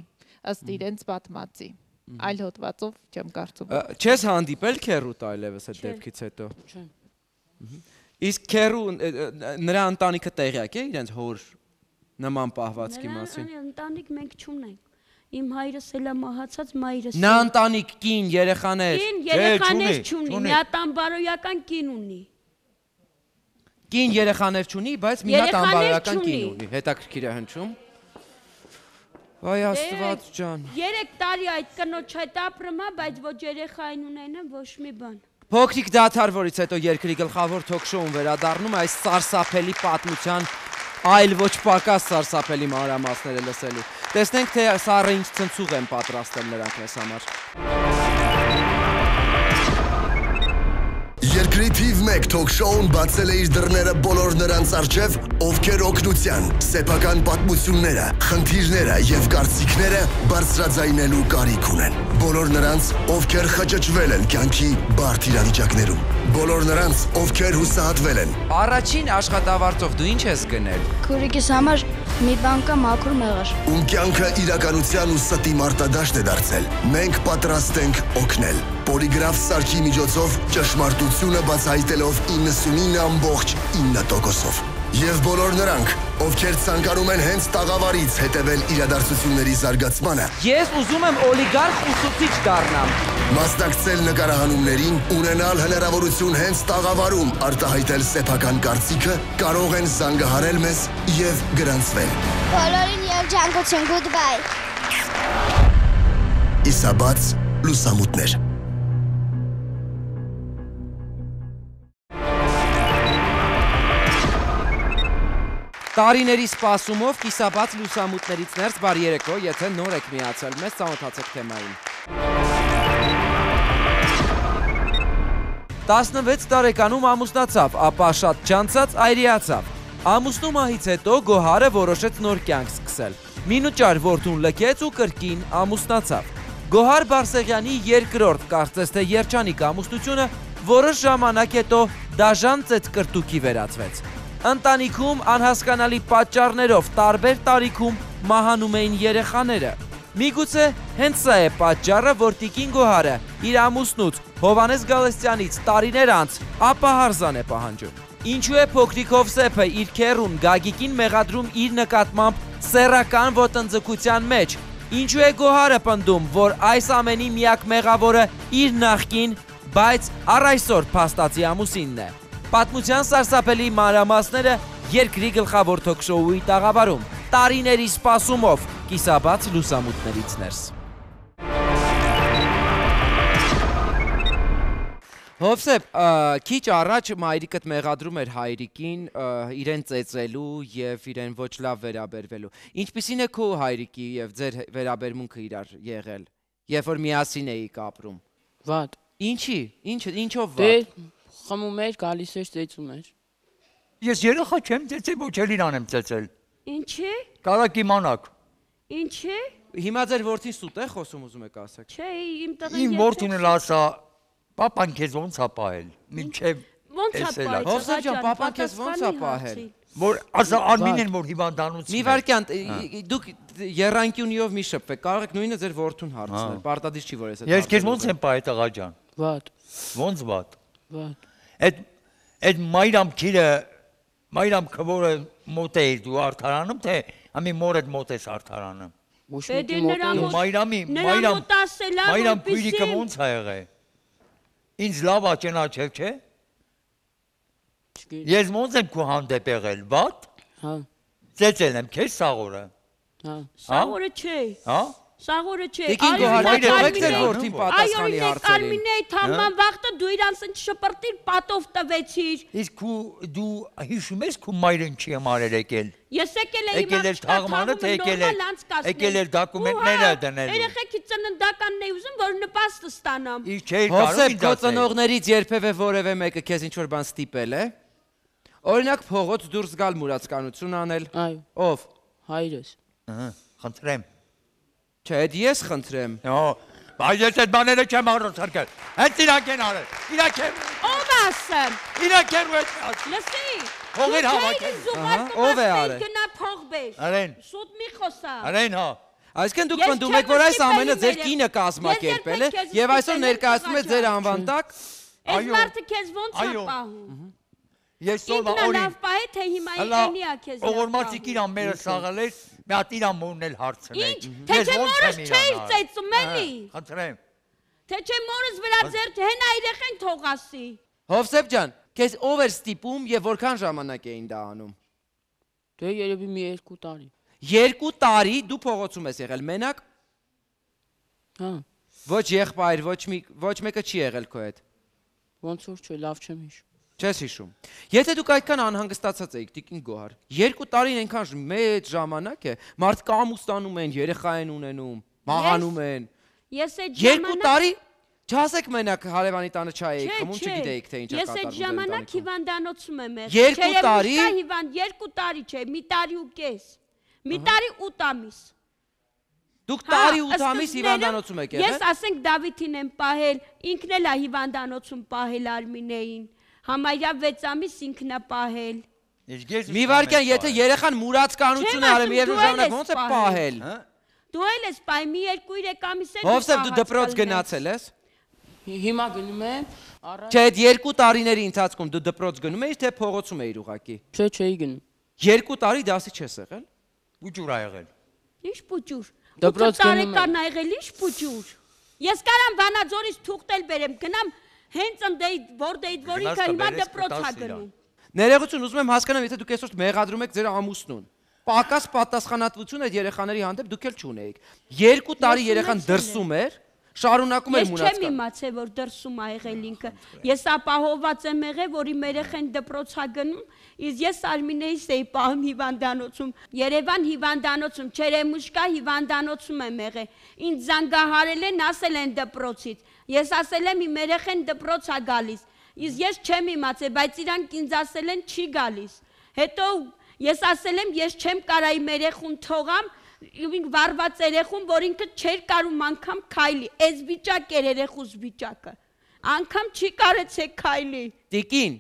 Speaker 3: ըստ իրենց պատմածի, այլ հոդվածով չեմ կարծում։
Speaker 1: Չես հանդիպել քերուտ այլևս այդ դեպքից հետո։
Speaker 6: Չէ։
Speaker 1: Իսկ քերու նրա ընտանիքը տեղյակ է իրենց հոր նման պահվածքի մասին։
Speaker 2: Ընտանիք մենք չունենք։ Իմ հայրս էլ է մահացած, մայրս։
Speaker 1: Նա ընտանիք, կին, երեխաներ։
Speaker 2: Կին, երեխաներ չունի, մի հատ անբարոյական կին ունի։
Speaker 1: Կին երեխաներ չունի, բայց մի հատ անբարոյական կին ունի, հետաքրքիր է հնչում։ Վայ Աստված ջան։
Speaker 2: Երեք տարի այդ կնոջ հետ ապրում է, բայց ոչ երեխային ունենեմ, ոչ մի բան։
Speaker 1: Փոքրիկ դադարվորից հետո երկրի գլխավոր թոք-շոուն վերադառնում է այս սարսափելի պատմության այլ ոչ պակաս սարսափելի մանրամասները լսելու։ Տեսնենք, թե սառը ինչ ցնցուղ են պատրաստել նրանք մեզ համար։
Speaker 4: Երկրի թիվ մեկ թոք-շոուն բացել է իր դռները բոլոր նրանց առջև, ովքեր օգնության, սեփական պատմությունները, խնդիրները եւ կարծիքները բարձրաձայնելու կարիք ունեն։ Բոլոր նրանց, ովքեր խճճվել են կյանքի բարդ իրավիճակներում։ Բոլոր նրանց, ովքեր հուսահատվել են։
Speaker 1: Առաջին աշխատավարձով դու ինչ ես գնել։
Speaker 7: Քուրիկիս համար մի բան կա մաքուր մեղր։
Speaker 4: Ում կյանքը իրականության ու ստի մարտադաշտ է դարձել։ Մենք պատրաստ ենք օգնել։ Պոլիգրաֆ սարքի միջոցով ճշմարտությունը բացահայտելով իննսունինը ամբողջ ինը տոկոսով։ Եվ բոլոր նրանք, ովքեր ցանկանում են հենց տաղավարից հետևել իրադարձությունների զարգացմանը։
Speaker 1: Ես ուզում եմ օլիգարխ ուսուցիչ դառնամ։
Speaker 4: Մասնակցել նկարահանումներին, ունենալ հնարավորություն հենց տաղավարում արտահայտել սեփական կարծիքը, կարող են զանգահարել մեզ եւ գրանցվել։
Speaker 7: Բոլորին երջանկություն, goodbye։
Speaker 4: Իսաբաց լուսամուտներ։
Speaker 1: Տարիների սպասումով կիսաբաց լուսամուտներից ներս բարի երեկո, եթե նոր եք միացել մեզ, ծանոթացեք թեմային։ տասնվեց տարեկանում ամուսնացավ, ապա շատ չանցած այրիացավ։ Ամուսնու մահից հետո Գոհարը որոշեց նոր կյանք սկսել։ Մինուճար որդուն լքեց ու կրկին ամուսնացավ։ Գոհար Բարսեղյանի երկրորդ, կարծես թե երջանիկ ամուսնությունը որոշ ժամանակ հետո դաժան ծեծկրտուքի վերածվեց։ Ընտանիքում անհասկանալի պատճառներով տարբեր տարիքում մահանում էին երեխաները։ Միգուցե հենց սա է պատճառը, որ Տիկին Գոհարը իր ամուսնուց Հովհաննես Գալստյանից տարիներ անց ապահարզան է պահանջում։ Ինչու է փոքրիկ Հովսեփը իր քեռուն Գագիկին մեղադրում իր նկատմամբ սեռական ոտնձգության մեջ։ Ինչու է Գոհարը պնդում, որ այս ամենի միակ մեղավորը իր նախկին, բայց առ այսօր փաստացի ամուսինն է։ Պատմության սարսափելի մանրամասները երկրի գլխավոր թոք-շոուի տաղավարում, տարիների սպասումով կիսաբաց լուսամուտներից ներս։ Հովսեփ, քիչ առաջ մայրիկդ մեղադրում էր հայրիկին իրեն ծեծելու եւ իրեն ոչ լավ վերաբերվելու։ Ինչպիսին է քո հայրիկի եւ ձեր վերաբերմունքը իրար եղել, երբ որ միասին էիք ապրում։
Speaker 6: Վատ։
Speaker 1: Ինչի՞, ինչ ինչով
Speaker 6: Դե
Speaker 1: վատ։
Speaker 6: խմում էր, գալիս էր, ծեծում էր։
Speaker 5: Ես երեխա չեմ ծեծել, ոչ էլ իրան եմ ծեծել։
Speaker 2: Ինչի՞։
Speaker 5: Կարակ իմանաք։
Speaker 2: Ինչի՞։
Speaker 1: Հիմա ձեր որդին սուտ է խոսում ուզում եք ասեք։
Speaker 2: Չէ, իմ տղեն
Speaker 5: Իմ որդին էլ ասա, պապան քեզ ոնց է պահել։ Մինչև
Speaker 2: ոնց է
Speaker 5: էսել ա։
Speaker 2: պահել։
Speaker 1: Հովսեփ ջան, պապան քեզ ոնց է պահել։
Speaker 5: Որ ասա Արմինեն որ հիվանդանոցում
Speaker 1: Մի վարքյան, դուք երանգյունիով մի շփվեք, կարող եք նույնը ձեր որդուն հարցնել, պարտադիր չի որ ես այդ։
Speaker 5: Ես քեզ ոնց եմ պահել տղա ջան։
Speaker 6: Վատ։
Speaker 5: Ոնց վատ։
Speaker 6: Վատ։
Speaker 5: Այդ այդ մայրամ քիրը մայրամ քվորը մոտ է դու արդարանում թե ամի մորդ մոտ ես արդարանում։
Speaker 6: Ոչ
Speaker 2: Պետք է
Speaker 6: մոտի
Speaker 2: նրան
Speaker 6: մոտ։
Speaker 2: մոտ-
Speaker 5: Մայրամի
Speaker 2: Նրան
Speaker 5: մայրամ
Speaker 2: մոտ ասել ա,
Speaker 5: մայրամ
Speaker 2: որպեսզի-
Speaker 5: քույրիկը ոնց ա եղել։ Ինձ լավ ա ճանաչել, չէ։
Speaker 6: Չգիտեմ։
Speaker 5: Ես ոնց եմ քո հանդեպ եղել, վատ։
Speaker 6: Հա,
Speaker 5: Ծեծել եմ քեզ սաղորը։
Speaker 6: հա։
Speaker 2: Սաղորը չէ։
Speaker 5: Հա։
Speaker 2: Սաղորը չէ։
Speaker 1: Տիկին Գոհար, եք ձեր որդին
Speaker 2: Այո,
Speaker 1: պատասխանի
Speaker 2: ինեք
Speaker 1: հարցերին։
Speaker 2: Արմինեի թաման վաղտը դու իրանց ընչ շպրտիր պատով տվեցիր։
Speaker 5: Իսկ քու դու հիշում ես քու մայրն չի համարել եկել։
Speaker 2: Ես եկել էի
Speaker 5: Եկել էր թաղմանը, թե եկել էր- եկել էր դոկումենտները դնելու։
Speaker 2: Երեխեքի ծննդականն էի ուզում, որ նպաստը ստանամ։
Speaker 5: Իսկ չէի կարող
Speaker 1: Հովսեփ,
Speaker 5: ինձ
Speaker 1: քո
Speaker 5: ասել։
Speaker 1: ծնողներից երբևէ որևէ մեկը քեզ ինչ որ բան ստիպել է։ Օրինակ փողոց դուրս գալ մուրացկանություն անել։
Speaker 6: Այո,
Speaker 1: Ով։
Speaker 6: հայրս։
Speaker 5: Ահա, խնդրեմ։
Speaker 1: Չէ, այդ ես խնդրեմ։
Speaker 5: Հա, բայց ես այդ բաները չեմ առնցրկել։ Հենց իրանք են արել։ Իրանք են,
Speaker 2: Ով ասեմ։
Speaker 5: իրանք են ու
Speaker 2: Լսի։
Speaker 5: Փողեր հավաքել։
Speaker 1: Ով է արել։
Speaker 2: Գնա փող բեր։
Speaker 5: Արեն,
Speaker 2: Շուտ մի խոսա։
Speaker 5: արեն հա։
Speaker 1: Այսինքն դուք
Speaker 2: Ես
Speaker 1: պնդում
Speaker 2: չեմ
Speaker 1: եք, որ այս
Speaker 2: ստիպել
Speaker 1: ամենը ձեր
Speaker 2: իմ
Speaker 1: կինը կազմակերպել է
Speaker 2: Ես երբեք քեզ
Speaker 1: եւ այսօր
Speaker 2: ստիպել եմ
Speaker 1: ներկայացնում է ձեր
Speaker 2: տղա
Speaker 1: անվանդակ։
Speaker 2: Այս
Speaker 5: Այո։
Speaker 2: մարդը քեզ ոնց է
Speaker 5: Այո։
Speaker 2: պահում։
Speaker 5: Ես սովա
Speaker 2: Ինքն
Speaker 5: օրին։
Speaker 2: լավ պահե, թե հիմա
Speaker 5: Հələ
Speaker 2: ինքնի է քեզ լավ
Speaker 5: օղորմացիկ
Speaker 2: պահում։
Speaker 5: իրան մերը սաղել էր, մի հատ իրան մորն էլ հարցնել։
Speaker 2: Ինչ, թե չէ մորս չէիր ծեծում, էլի։
Speaker 5: Խնդրեմ։
Speaker 2: Թե չէ մորս վրա ձեր հենա երեխեն թողասի։
Speaker 1: Հովսեփ ջան, քեզ ով էր ստիպում եւ որքան ժամանակ էին դա անում։
Speaker 6: Դե երևի մի երկու տարի։
Speaker 1: Երկու տարի դու փողոցում ես եղել մենակ։
Speaker 6: Հա,
Speaker 1: Ոչ եղբայր, ոչ մի ոչ մեկը չի եղել քո հետ։
Speaker 6: ոնց որ չէ, լավ չեմ հիշում։
Speaker 1: Չես հիշում։ Եթե դուք այդքան անհանգստացած եք, Տիկին Գոհար, երկու տարին այնքան ժ- մեծ ժամանակ է, մարդիկ ամուսնանում են, երեխա են ունենում, մահանում են։
Speaker 2: Ես այդ
Speaker 1: Երկու
Speaker 2: ժամանակ
Speaker 1: տարի չասեք մենակ հարևանի տանը չայ էիք,
Speaker 2: Չէ,
Speaker 1: խմում
Speaker 2: չէ։
Speaker 1: չգիտեիք թե ինչ է
Speaker 2: Ես այդ
Speaker 1: կատարվում։
Speaker 2: ժամանակ հիվանդանոցում եմ եղել։
Speaker 1: Երկու
Speaker 2: Չերևի
Speaker 1: տարի։
Speaker 2: շտա հիվանդ, երկու տարի չէ, մի տարի ու կես։ Մի տարի ութ ամիս։
Speaker 1: Դուք
Speaker 2: Հա,
Speaker 1: տարի ութ ամիս
Speaker 2: սկզբներում
Speaker 1: հիվանդանոցում եք
Speaker 2: Ես
Speaker 1: եղել։
Speaker 2: ասենք Դավիթին եմ պահել, ինքն էլ է հիվանդանոցում պահել Արմինեին։ Համարյա վեց ամիս ինքն է պահել։
Speaker 5: Իսկ ես
Speaker 1: Մի վարքյան, եթե երեխան մուրացկանություն է
Speaker 2: Չեմ
Speaker 1: արել,
Speaker 2: ասում,
Speaker 1: միևնույն
Speaker 2: դու էլ
Speaker 1: ժամանակ
Speaker 2: ես
Speaker 1: ոնց է
Speaker 2: պահել։
Speaker 1: պահել։
Speaker 5: Հա։
Speaker 2: Դու էլ ես պահել, մի երկու երեք ամիս է։
Speaker 1: Հովսեփ դու դպրոց գնացել ես։
Speaker 6: Հիմա գնում եմ, առա
Speaker 1: Չէ, այդ երկու տարիների ընթացքում դու դպրոց գնում էիր, թե փողոցում էիր ուղակի։
Speaker 6: չէ, չէի գնում։
Speaker 1: Երկու տարի դասի չես եղել։
Speaker 5: Ուջուր ա եղել։
Speaker 2: Ինչ պուճուր։
Speaker 6: Դպրոց
Speaker 2: ութ
Speaker 6: գնում եմ։
Speaker 2: տարեկան ա եղել, ինչ պուճուր։ Ես կարամ Վանաձորից թուղթել բերեմ, գնամ հենց ընդեի որտեի որ ինքը հիմա
Speaker 5: Գնաս
Speaker 2: դպրոց ա
Speaker 5: կբերես,
Speaker 2: գնում։
Speaker 1: Ներողություն, ուզում եմ հասկանամ, եթե դուք այսօր մեղադրում եք ձեր ամուսնուն։ Պակաս պատասխանատվություն այդ երեխաների հանդեպ դուք էլ չունեիք։ Երկու տարի
Speaker 2: Ես
Speaker 1: երեխան
Speaker 2: ունեցել
Speaker 1: դրսում էր, շարունակում էր
Speaker 2: Ես չեմ
Speaker 1: մուրացկան։
Speaker 2: իմացել, որ դրսում ա եղել ինքը։ Ես ապահովված եմ եղել, որ իմ երեխեն դպրոց ա գնում, իսկ ես Արմինեից էի պահում հիվանդանոցում։ Երևան հիվանդանոցում, Չերեմուշկա հիվանդանոցում եմ եղել։ Ինձ զանգահարել են, ասել են դպրոցից։ Ես ասել եմ իմ երեխեն դպրոց ա գալիս։ Իսկ ես չեմ իմացել, բայց իրանք ինձ ասել են չի գալիս։ Հետո ես ասել եմ, ես չեմ կարա իմ երեխուն թողամ, ինք վարված երեխուն, որ ինքը չէր կարում անգամ քայլի, այս վիճակ էր երեխուս վիճակը, անգամ չի կարեցեք քայլի։
Speaker 1: Տիկին,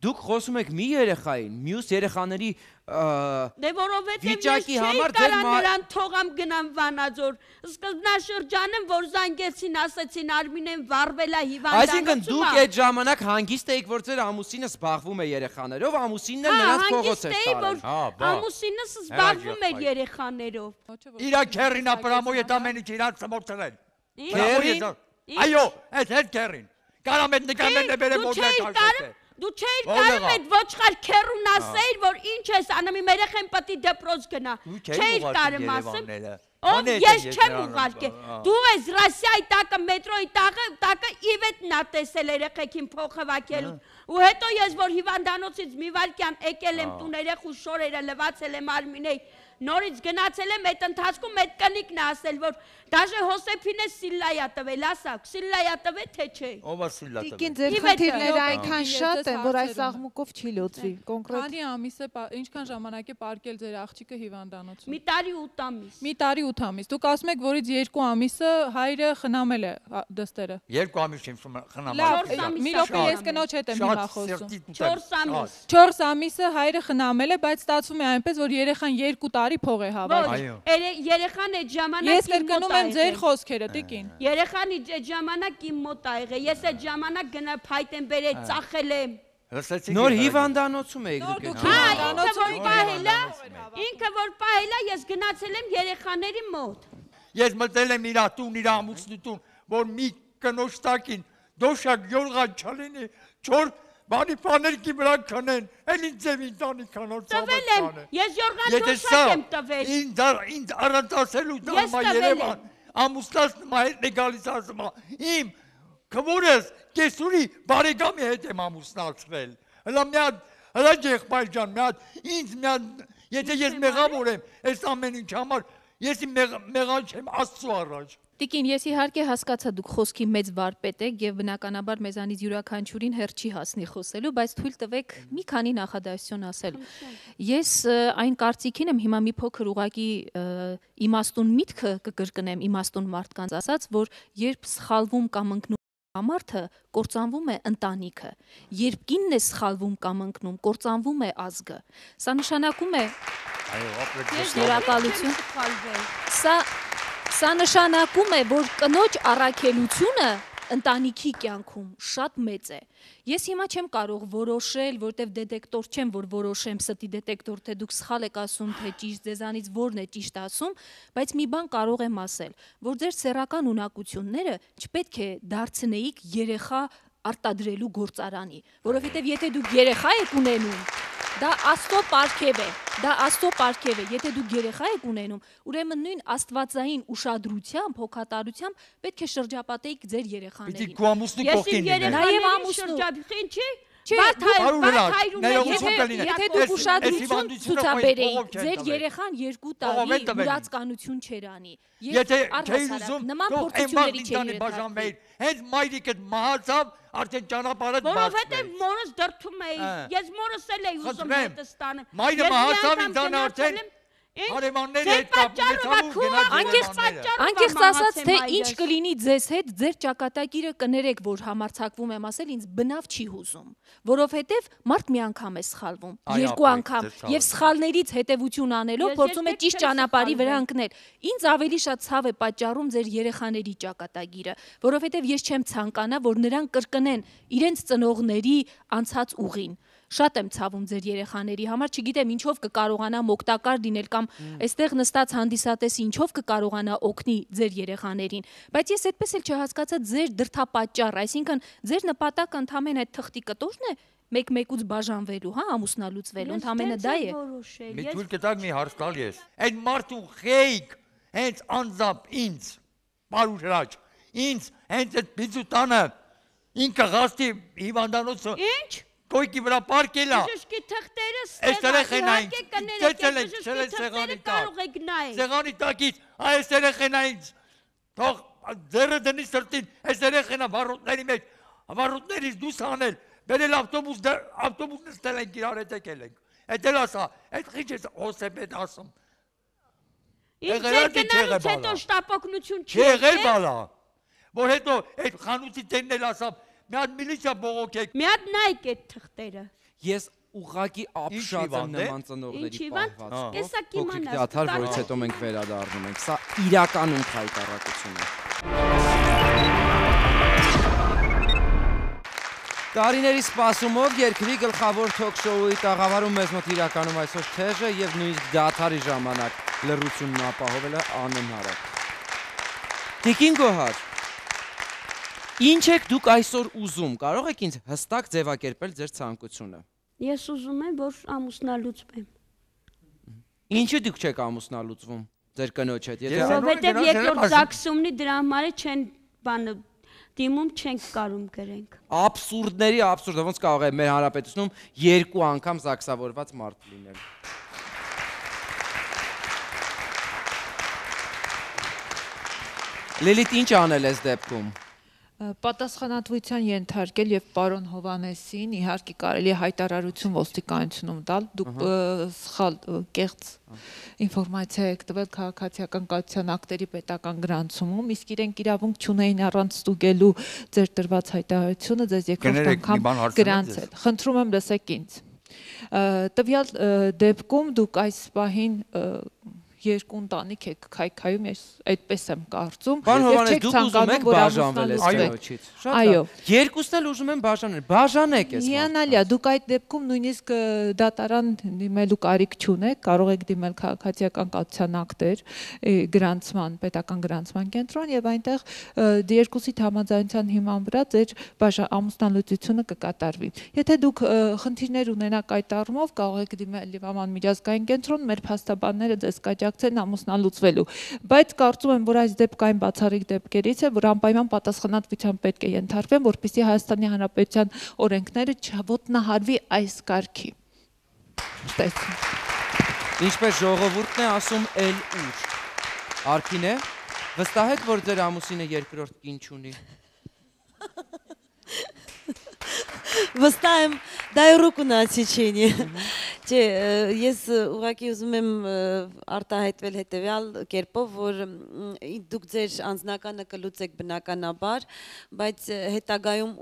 Speaker 1: դուք խոսում եք մի երեխային, մյուս երեխաների
Speaker 2: Դե որովհետև ես
Speaker 1: վիճակի
Speaker 2: չէի
Speaker 1: համար ձեր
Speaker 2: կարա
Speaker 1: մա-
Speaker 2: նրան թողամ գնամ Վանաձոր, սկզբնաշրջանում, որ զանգեցին, ասեցին Արմինեն վարվել է
Speaker 1: Այսինքն
Speaker 2: հիվանդանոցում
Speaker 1: դուք
Speaker 2: ա։
Speaker 1: այդ ժամանակ հանգիստ էիք, որ ձեր ամուսինը զբաղվում է երեխաներով, ամուսինն էլ
Speaker 2: Հա,
Speaker 1: նրանց փողոց
Speaker 2: հանգիստ
Speaker 1: էր
Speaker 2: էի,
Speaker 1: տարել։
Speaker 2: որ
Speaker 5: Հա, բա։
Speaker 2: ամուսինս զբաղվում էր
Speaker 5: եղբայր։
Speaker 2: երեխաներով։
Speaker 5: Իրա քերին ապրամոյ այդ ամենից իրան ծմորցրել։
Speaker 1: Քերին։
Speaker 5: Այո, այդ հետ քերին։ Կարամ այդ նկարներն բերեմ
Speaker 2: Դու
Speaker 5: որ
Speaker 2: չէիր
Speaker 5: դեռ
Speaker 2: կարում, դու չէիր
Speaker 5: Ո՞վ
Speaker 2: կարում
Speaker 5: եղավ։
Speaker 2: այդ ոչխար քերուն ասեիր, որ ինչ ես անում, իմ երեխեն պետք է դպրոց գնա։
Speaker 5: Դու
Speaker 2: Չէիր կարում ասեմ։ Ով ես չեմ ուղարկել։ Դու ես Ռասիայի տակը մետրոյի տակը տակը իվետնա տեսել երեխեքին փոխհվակելու։ Ու հետո ես որ հիվանդանոցից մի վարկյան եկել եմ տուն երեխու շորերը լվացել եմ արմինեի։ Նորից գնացել եմ այդ ընթացքում այդ կնիկն է ասել որ դաժե Հոսեփինը Սիլլայա տվել, ասակ, Սիլլայա տվել թե չէ։
Speaker 5: Ով է Սիլլա տվել։
Speaker 8: Տիկին ձեր խնդիրները այնքան շատ են, որ այս աղմուկով չի լուծվի։ Կոնկրետ։
Speaker 3: Քանի ամիս է, ինչքան ժամանակ է պարկել ձեր աղջիկը հիվանդանոցում։
Speaker 2: Մի տարի ութ ամիս։
Speaker 3: Մի տարի ութ ամիս։ Դուք ասում եք, որից երկու ամիսը հայրը խնամել է դստերը։
Speaker 5: Երկու ամիս չեմ խնամել։
Speaker 3: Լավ, մի րոպե ես կնոջ հետ եմ հիմա խոսում։
Speaker 2: չորս ամիս։
Speaker 3: չորս ամիսը հայրը խնամել է, բայց ստացվում է այնպես, որ երեխան երկու տարի փող է հավաքում։
Speaker 2: Երեխան այդ ժամանակ
Speaker 3: Ես կրկնում եմ ձեր խոսքերը, տիկին։
Speaker 2: Երեխան այդ ժամանակ իմ մոտ ա եղել։ Ես այդ ժամանակ գնա փայտ եմ բերել, ծախել եմ։
Speaker 1: Նոր հիվանդանոցում եք դուք։
Speaker 2: Հա, ինքը որ պահելա, ինքը որ պահելա, ես գնացել եմ երեխաների մոտ։
Speaker 5: Ես մտել եմ իր տուն, իր ամուսնուտուն, որ մի կնոջ տակին դոշակ յորղան չալինի, չոր բանի պաներքի վրա քնեն, էլ ինձ եմ ինտանիքանոր
Speaker 2: ծավալ եմ, ես յորղան դոշակ եմ տվել։
Speaker 5: Ինձ առանց ասելու դրամա Երևան, ամուսնաս նմա հետ է գալիս ասում, իմ քվորս կեսուրի բարեկամի հետ եմ ամուսնացվել, հլա մի հատ, հլա ջեղբայր ջան, մի հատ, ինձ մի հատ, եթե ես մեղավոր եմ, ես ամեն ինչ համար, ես իմ մեղան չեմ Աստծու առաջ։
Speaker 9: Տիկին, ես իհարկե հասկացա դուք խոսքի մեծ վարպետ եք եւ բնականաբար մեզանից յուրաքանչյուրին հերթ չի հասնի խոսելու, բայց թույլ տվեք մի քանի նախադասություն ասել։ Ես այն կարծիքին եմ հիմա մի փոքր ուղակի իմաստուն միտքը կկրկնեմ իմաստուն մարդկանց ասած, որ երբ սխալվում կամ ընկնում Ամարթը կործանվում է ընտանիքը, երբ կինն է սխալվում կամ ընկնում, կործանվում է ազգը։ Սա նշանակում է երակալություն։ Սա Սա նշանակում է, որ կնոջ առաքելությունը ընտանիքի կյանքում շատ մեծ է։ Ես հիմա չեմ կարող որոշել, որտեվ դետեկտոր չեմ, որ որոշեմ ստի դետեկտոր, թե դուք սխալ եք ասում, թե ճիշտ, ձեզանից որն է ճիշտ ասում, բայց մի բան կարող եմ ասել, որ ձեր սեռական ունակությունները չպետք է դարձնեիք երեխա արտադրելու գործարանի, որովհետև եթե դուք երեխա եք ունենում, դա Աստծո պարգև է, դա Աստծո պարգև է, եթե դուք երեխա եք ունենում, ուրեմն նույն աստվածային ուշադրությամբ, հոգատարությամբ պետք է շրջապատեիք ձեր երեխաներին։
Speaker 5: Պիտի քո ամուսնու կողքին լինի։
Speaker 9: Նաև ամուսնու։
Speaker 2: Ինչի՞։
Speaker 9: Եթե դուք ուշադրություն ցուցաբերեիք, ձեր երեխան երկու տարի ուրացկանություն չեր անի։
Speaker 5: Եթե չէի ուզում,
Speaker 9: նման
Speaker 5: թող
Speaker 9: փորձությունների չէր
Speaker 5: բաժանվեիր։ Հենց մայրիկդ մահացավ, արդեն ճանապարհը բաց։
Speaker 2: Որովհետև մորս դրթում էի, ես մորս էլ էի ուզում հետս տանը։
Speaker 5: Մայրը մահացավ ինձ արդեն հարևանների հետ կապ
Speaker 9: Անկեղծ ասած, թե ինչ կլինի ձեզ հետ, ձեր ճակատագիրը կներեք, որ համարձակվում եմ ասել, ինձ բնավ չի հուզում, որովհետև մարդ մի անգամ է սխալվում, երկու անգամ, եւ սխալներից հետևություն անելով փորձում է ճիշտ ճանապարհի վրա ընկնել։ Ինձ ավելի շատ ցավ է պատճառում ձեր երեխաների ճակատագիրը, որովհետև ես չեմ ցանկանա, որ նրանք կրկնեն իրենց ծնողների անցած ուղին։ Շատ եմ ցավում ձեր երեխաների համար, չգիտեմ ինչով կկարողանամ օգտակար լինել կամ այստեղ նստած հանդիսատեսը ինչով կկարողանա օգնի ձեր երեխաներին, բայց ես այդպես էլ չհասկացա ձեր դրդապատճառ, այսինքն ձեր նպատակը ընդհանրեն այդ թղթի կտորն է մեկ-մեկուց բաժանվելու, հա, ամուսնալուծվելու, ընդհանրենը դա է։
Speaker 5: Մի թույլ կտակ մի հարց տալ ես։ Այդ մարդու խեյք հենց անձամբ ինձ, Մարուշ Հրաչ, ինձ հենց այդ բիզուտանը ինքը գաստի հիվանդանոցը։
Speaker 2: Ինչ?
Speaker 5: Կոյկի վրա պարկել է։
Speaker 2: Բժշկի թղթերը ստեղծել
Speaker 5: եք, սեղանի տակ։ Սեղանի տակից, այս երեխենային թող ձեռը դնի սրտին, այս երեխենա վառուտների մեջ, վառուտներից դուս անել, բերել ավտոբուս, ավտոբուս նստել ենք իրար հետ եկել ենք։ Էդ էլ ասա, այդ խիչ ես Հոսեփ հետ ասում։
Speaker 2: Ինչ ձեր գնալուց հետո շտապօգնություն չի
Speaker 5: եղել բալա, որ հետո այդ խանութի տերն էլ ասավ, մի հատ միլիցիա բողոքեք։
Speaker 2: Մի հատ նայեք այդ թղթերը։
Speaker 1: Ես ուղղակի ապշած եմ նման ծնողների պահվածքով։
Speaker 2: Կեսա կիմանաս։
Speaker 1: Դաթար, որից հետո մենք վերադառնում ենք։ Սա իրականում խայտառակություն է։ Տարիների սպասումով երկրի գլխավոր թոք-շոուի տաղավարում մեզ մոտ իրականում այսօր թեժը եւ նույնիսկ դաթարի ժամանակ լռությունն ապահովելը անհնար է։ Տիկին Գոհար, ինչ եք դուք այսօր ուզում, կարող եք ինձ հստակ ձևակերպել ձեր ցանկությունը։
Speaker 2: Ես ուզում եմ, որ ամուսնալուծվեմ։
Speaker 1: Ինչու դուք չեք ամուսնալուծվում։ ձեր կնոջ հետ։
Speaker 2: Որովհետև երկրորդ զաքսումնի դրա համար չեն բանը դիմում չենք կարում գրենք։
Speaker 1: Աբսուրդների աբսուրդը ոնց կարող է մեր հանրապետությունում երկու անգամ զաքսավորված մարդ լինել։ Լիլիթ, ինչ անել ես դեպքում։
Speaker 8: Պատասխանատվության ենթարկել եւ պարոն Հովանեսին իհարկե կարելի է հայտարարություն ոստիկանությունում տալ, դուք սխալ կեղծ ինֆորմացիա եք տվել քաղաքացիական կայության ակտերի պետական գրանցումում, իսկ իրենք իրավունք չունեին առանց ստուգելու ձեր տրված հայտարարությունը ձեզ երկրորդ անգամ գրանցել։ Խնդրում եմ լսեք ինձ։ Տվյալ դեպքում դուք այս պահին երկու ընտանիք եք քայքայում, ես այդպես եմ կարծում։
Speaker 1: Պարոն Հովանես, դուք ուզում եք բաժանվել այս կնոջից։
Speaker 8: Այո։
Speaker 1: Երկուսն էլ ուզում են բաժանել։ Բաժանեք ես։
Speaker 8: Հիանալի է, դուք այդ դեպքում նույնիսկ դատարան դիմելու կարիք չունեք, կարող եք դիմել քաղաքացիական կայության ակտեր, գրանցման, պետական գրանցման կենտրոն եւ այնտեղ երկուսի համաձայնության հիման վրա ձեր ամուսնալուծությունը կկատարվի։ Եթե դուք խնդիրներ ունենաք այդ առումով, կարող եք դիմել Լիվաման միջազգային կենտրոն, մեր փաստաբանները ձեզ կաջակցեն ամուսնալուծվելու, բայց կարծում եմ, որ այս դեպքը այն բացառիկ դեպքերից է, որ անպայման պատասխանատվության պետք է ենթարկվեն, որպեսզի Հայաստանի Հանրապետության օրենքները չոտնահարվի այս կարգի։
Speaker 1: Ինչպես ժողովուրդն է ասում, էլ ուր։ Արքինե, վստահ եք, որ ձեր ամուսինը երկրորդ կին չունի։
Speaker 10: Վստահ եմ, դա է ռուկուն ասիչինի։ Չէ, ես ուղղակի ուզում եմ արտահայտվել հետևյալ կերպով, որ դուք ձեր անձնականը կլուծեք բնականաբար, բայց հետագայում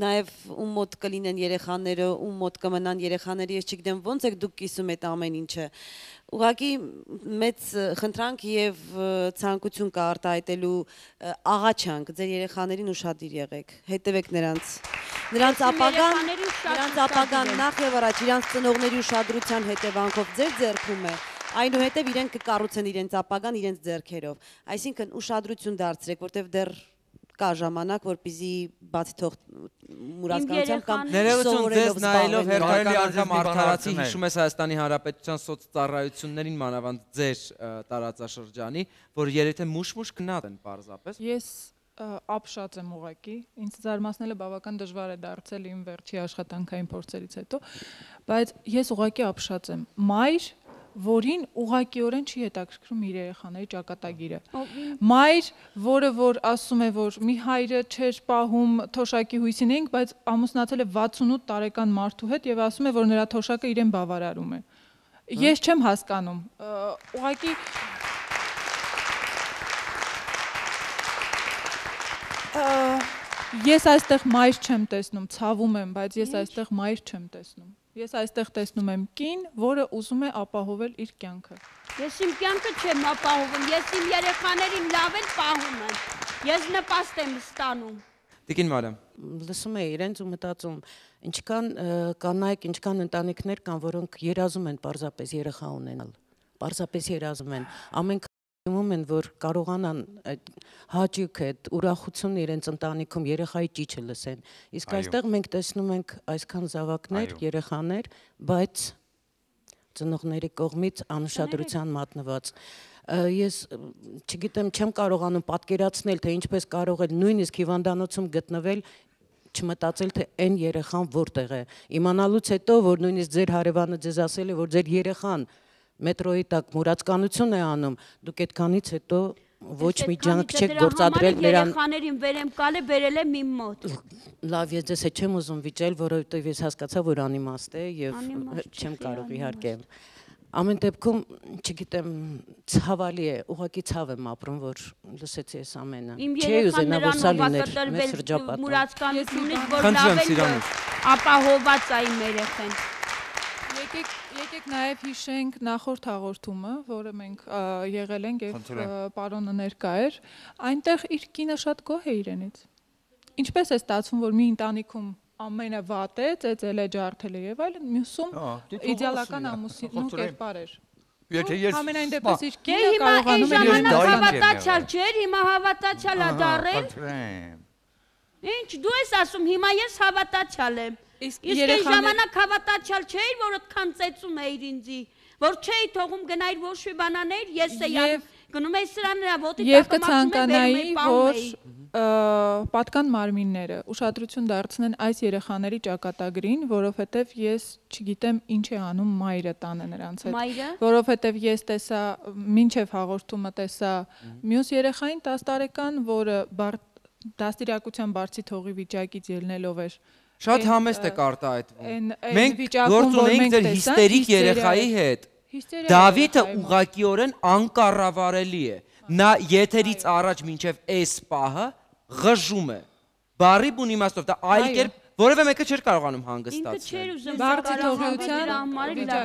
Speaker 10: նաև ում մոտ կլինեն երեխաները, ում մոտ կմնան երեխաները, ես չգիտեմ ոնց եք դուք կիսում այդ ամեն ինչը։ Ուղղակի մեծ խնդրանք եւ ցանկություն կա արտահայտելու աղաչանք ձեր երեխաներին ուշադիր եղեք, հետևեք նրանց։ Նրանց ապագան, նրանց ապագան նախ եւ առաջ իրանց ծնողների ուշադրության հետևանքով ձեր ձեռքում է, այնուհետև իրենք կկառուցեն իրենց ապագան իրենց ձեռքերով։ Այսինքն ուշադրություն դարձրեք, որտեղ դեռ կա ժամանակ, որպեսզի բացի թող մուրացկանությամբ կամ
Speaker 1: ներողություն ձեզ նայելով հերթարելի անգամ արդարացի հիշում ես Հայաստանի Հանրապետության սոցծառայություններին, մանավանդ ձեր տարածաշրջանի, որ երեթե մուշ-մուշ գնաց են պարզապես։
Speaker 3: Ես ապշած եմ ուղղակի, ինձ զարմացնելը բավական դժվար է դարձել իմ վերջի աշխատանքային փորձերից հետո, բայց ես ուղղակի ապշած եմ։ Մայր, որին ուղղակիորեն չի հետաքրքրում իր երեխաների ճակատագիրը։ Մայր, որը որ ասում է, որ մի հայրը չէր պահում թոշակի հույսին էինք, բայց ամուսնացել է վաթսունութ տարեկան մարդու հետ եւ ասում է, որ նրա թոշակը իրեն բավարարում է։ Ես չեմ հասկանում։ Ուղղակի Ես այստեղ մայր չեմ տեսնում, ցավում եմ, բայց ես այստեղ մայր չեմ տեսնում։ Ես այստեղ տեսնում եմ կին, որը ուզում է ապահովել իր կյանքը։
Speaker 2: Ես իմ կյանքը չեմ ապահովում, ես իմ երեխաներին լավ էլ պահում եմ։ Ես նպաստ եմ ստանում։
Speaker 1: Տիկին Մարիամ։
Speaker 10: Լսում եմ իրենց ու մտածում, ինչքան կանայք, ինչքան ընտանիքներ կան, որոնք երազում են պարզապես երեխա ունենալ։ Պարզապես երազում են։ Ամեն ում են, որ կարողանան հաճույք այդ ուրախությունը իրենց ընտանիքում երեխայի ճիչը լսեն։ Իսկ այստեղ մենք տեսնում ենք այսքան զավակներ, երեխաներ, բայց ծնողների կողմից անուշադրության մատնված։ Ես չգիտեմ, չեմ կարողանում պատկերացնել, թե ինչպես կարող է նույնիսկ հիվանդանոցում գտնվել չմտածել, թե այն երեխան որտեղ է։ Իմանալուց հետո, որ նույնիսկ ձեր հարևանը ձեզ ասել է, որ ձեր երեխան մետրոյի տակ մուրացկանություն է անում, դուք այդքանից հետո ոչ մի ջանք չեք գործադրել նրան։
Speaker 2: Երեխաներին վերեմ կալը բերել եմ իմ մոտ։
Speaker 10: Լավ, ես ձեզ հետ չեմ ուզում վիճել, որովհետև ես հասկացա, որ անիմաստ է եւ չեմ կարող իհարկե։ Ամեն դեպքում, չգիտեմ, ցավալի է, ուղղակի ցավ եմ ապրում, որ լսեցի այս ամենը։ Չի ուզենա, որ սա լիներ մեր շրջապատում։
Speaker 2: Մուրացկանությունից, որ լավ են ապահոված է իմ երեխեն։
Speaker 3: Եկեք նաև հիշենք նախորդ հաղորդումը, որը մենք եղել ենք եւ պարոնը ներկա էր, այնտեղ իր կինը շատ գոհ է իրենից։ Ինչպես է ստացվում, որ մի ընտանիքում ամենը վատ է, ծեծել է, ջարդել է եւ այլն, մյուսում իդեալական ամուսինու կերպար էր։
Speaker 5: Եթե ես
Speaker 3: ամենայն դեպս իր կինը կարողանում է
Speaker 2: ժամանակ հավատացյալ չէր, հիմա հավատացյալ է դառել։ Ինչ դու ես ասում, հիմա ես հավատացյալ եմ։ Իսկ այն ժամանակ հավատացյալ չէիր, որ այդքան ծեծում էիր ինձի, որ չէի թողում գնայր ոչ մի բանաներ, ես էի գնում էի սրան նրա ոտի
Speaker 3: Եվ կցանկանայի, որ պատկան մարմինները ուշադրություն դարձնեն այս երեխաների ճակատագրին, որովհետև ես չգիտեմ ինչ է անում մայրը տանը նրանց հետ, որովհետև ես տեսա, մինչև հաղորդումը տեսա մյուս երեխային տասը տարեկան, որը դաստիարակության բարձի թողի վիճակից ելնելով էր
Speaker 1: Շատ համեստ է արտահայտվում։ Մենք գործ ունենք ձեր հիստերիկ երեխայի հետ։ Դավիթը ուղղակիորեն անկառավարելի է։ Նա եթերից առաջ մինչև այս պահը ղժում է։ Բառի բուն իմաստով դա այլ կերպ որևէ մեկը չէր կարողանում հանգստացնել։
Speaker 3: Բարձի թողության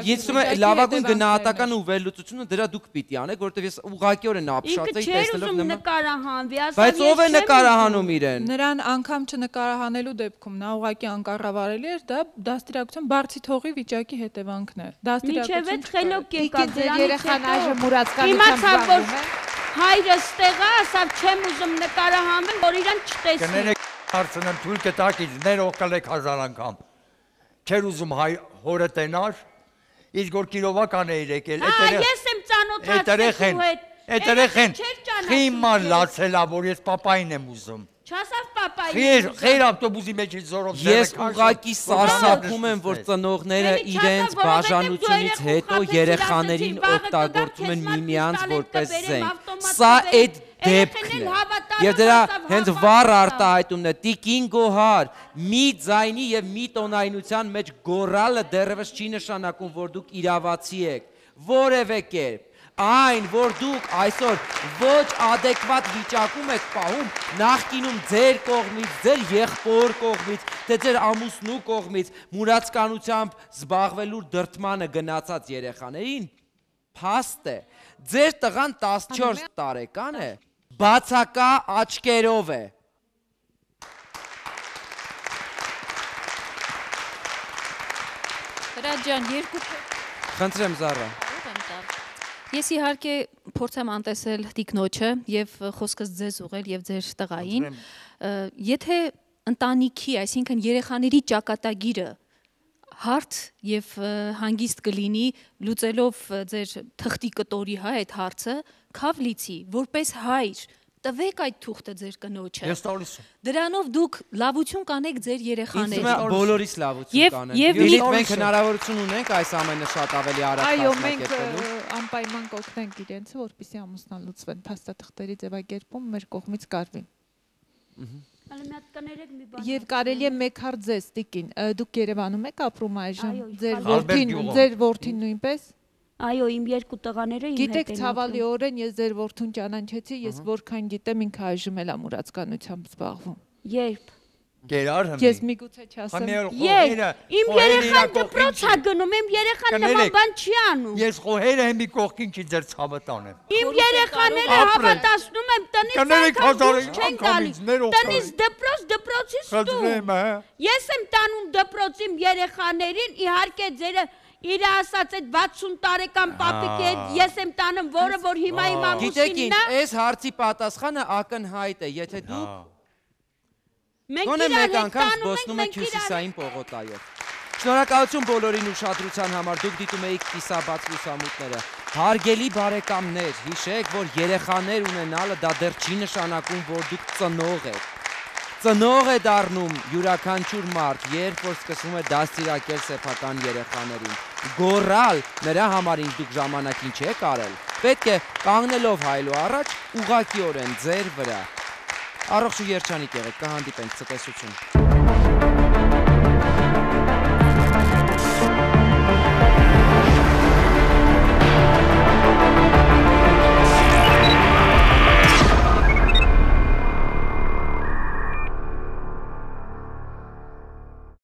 Speaker 1: Ես ասում եմ լավագույն գնահատականը ու վերլուծությունը դրա դուք պիտի անեք, որովհետև ես ուղղակիորեն ապշած էի տեսնելով նման։
Speaker 2: նկարահանվի,
Speaker 1: Բայց ով է նկարահանում իրեն։
Speaker 3: Նրան անգամ չնկարահանելու դեպքում նա ուղղակի անկառավարելի էր, դա դաստիարակության բարձի թողի վիճակի հետևանքն է։
Speaker 2: Դաստիարակություն խելոք եկավ
Speaker 8: երեխան այժմ մուրացկանությամբ զբաղվում է։
Speaker 2: Հայրս տեղա, ասավ չեմ ուզում նկարահանվել, որ իրան չտեսնի։
Speaker 5: Հարցնեմ թույլ կտակ ինձ ներողել եք հազար անգամ։ Չեր ուզում հորը տենար, իսկ որ կիրովական էիր եկել,
Speaker 2: ես եմ ծանոթացել ու հետ։
Speaker 5: Այդ երեխեն խիմար լացելա, որ ես պապային եմ ուզում։
Speaker 2: Չասավ պապայի։
Speaker 5: Խեր, խեր ավտոբուսի մեջ զորով
Speaker 1: Ես ուղղակի սարսափում եմ, որ ծնողները իրենց բաժանությունից հետո երեխաներին օգտագործում են միմյանց որպես զենք։ Սա այդ դեպքն է։ Եվ դրա հենց վառ արտահայտումն է, տիկին Գոհար, մի ձայնի եւ մի տոնայնության մեջ գոռալը դեռևս չի նշանակում, որ դուք իրավացի եք, որևէ կերպ։ Այն, որ դուք այսօր ոչ ադեկվատ վիճակում եք պահում, նախկինում ձեր կողմից, ձեր եղբոր կողմից, թե ձեր ամուսնու կողմից, մուրացկանությամբ զբաղվելու դրդմանը գնացած երեխաներին, փաստ է, ձեր տղան տասնչորս տարեկան է, բացակա աչքերով է։
Speaker 9: Հրաչյան, երկու
Speaker 1: Խնդրեմ Զառա։
Speaker 9: Ես իհարկե փորձեմ անտեսել տիկնոջը եւ խոսքս ձեզ ուղղել եւ ձեր տղային։ Եթե ընտանիքի, այսինքն երեխաների ճակատագիրը հարթ եւ հանգիստ կլինի, լուծելով ձեր թղթի կտորի հա այդ հարցը, քավ լիցի, որպես հայր տվեք այդ թուղթը ձեր կնոջը։
Speaker 5: Ես տալիս եմ։
Speaker 9: Դրանով դուք լավություն կանեք ձեր երեխաներին։
Speaker 1: Ինձ բոլորիս լավություն կանենք։ Եվ մենք հնարավորություն ունենք այս ամենը շատ ավելի արագ
Speaker 8: այո, մենք անպայման կօգնենք իրենց, որպեսզի ամուսնալուծվեն, փաստաթղթերի ձևակերպում մեր կողմից կարվի։ Եվ կարելի է մեկ հարց ձեզ, տիկին, դուք Երևանում եք ապրում այժմ, ձեր որդին, ձեր որդին նույնպես։
Speaker 2: Այո, իմ երկու տղաները իմ հետ են ապրում։
Speaker 8: Գիտեք, ցավալիորեն ես ձեր որդուն ճանաչեցի, ես որքան գիտեմ ինքը այժմ էլ ամուրացկանությամբ զբաղվում։
Speaker 2: Երբ։
Speaker 5: Գերար հմի։
Speaker 8: Ես միգուցե չասեմ։
Speaker 2: Իմ երեխան դպրոց է գնում, իմ երեխան նման բան չի անում։
Speaker 5: Ես խոհերը հմի կողքին չի ձեր ցավը տանեմ։
Speaker 2: Իմ երեխաները հավատացնում եմ տնից չեն գալիս։ Տնից դպրոց, դպրոցից տուն։ Ես եմ տանում դպրոց իմ երեխաներին, իհարկե ձերը իր ասած այդ վաթսուն տարեկան պապիկի հետ ես եմ տանում, որը որ հիմա իմ ամուսինն է։
Speaker 1: Գիտեք, այս հարցի պատասխանը ակնհայտ է, եթե դուք
Speaker 2: Մենք
Speaker 1: մեկ անգամ զբոսնում եք Հյուսիսային պողոտայով։ Շնորհակալություն բոլորին ուշադրության համար, դուք դիտում էիք կիսաբաց լուսամուտները։ Հարգելի բարեկամներ, հիշեք, որ երեխաներ ունենալը դա դեռ չի նշանակում, որ դուք ծնող եք։ Ծնող է դառնում յուրաքանչյուր մարդ, երբ որ սկսում է դաստիարակել սեփական երեխաներին։ Գոռալ նրա համար ինչ դուք ժամանակին չեք արել, պետք է կանգնելով հայելու առաջ ուղղակիորեն ձեր վրա։ Առողջ ու երջանիկ եղեք, կհանդիպենք, ցտեսություն։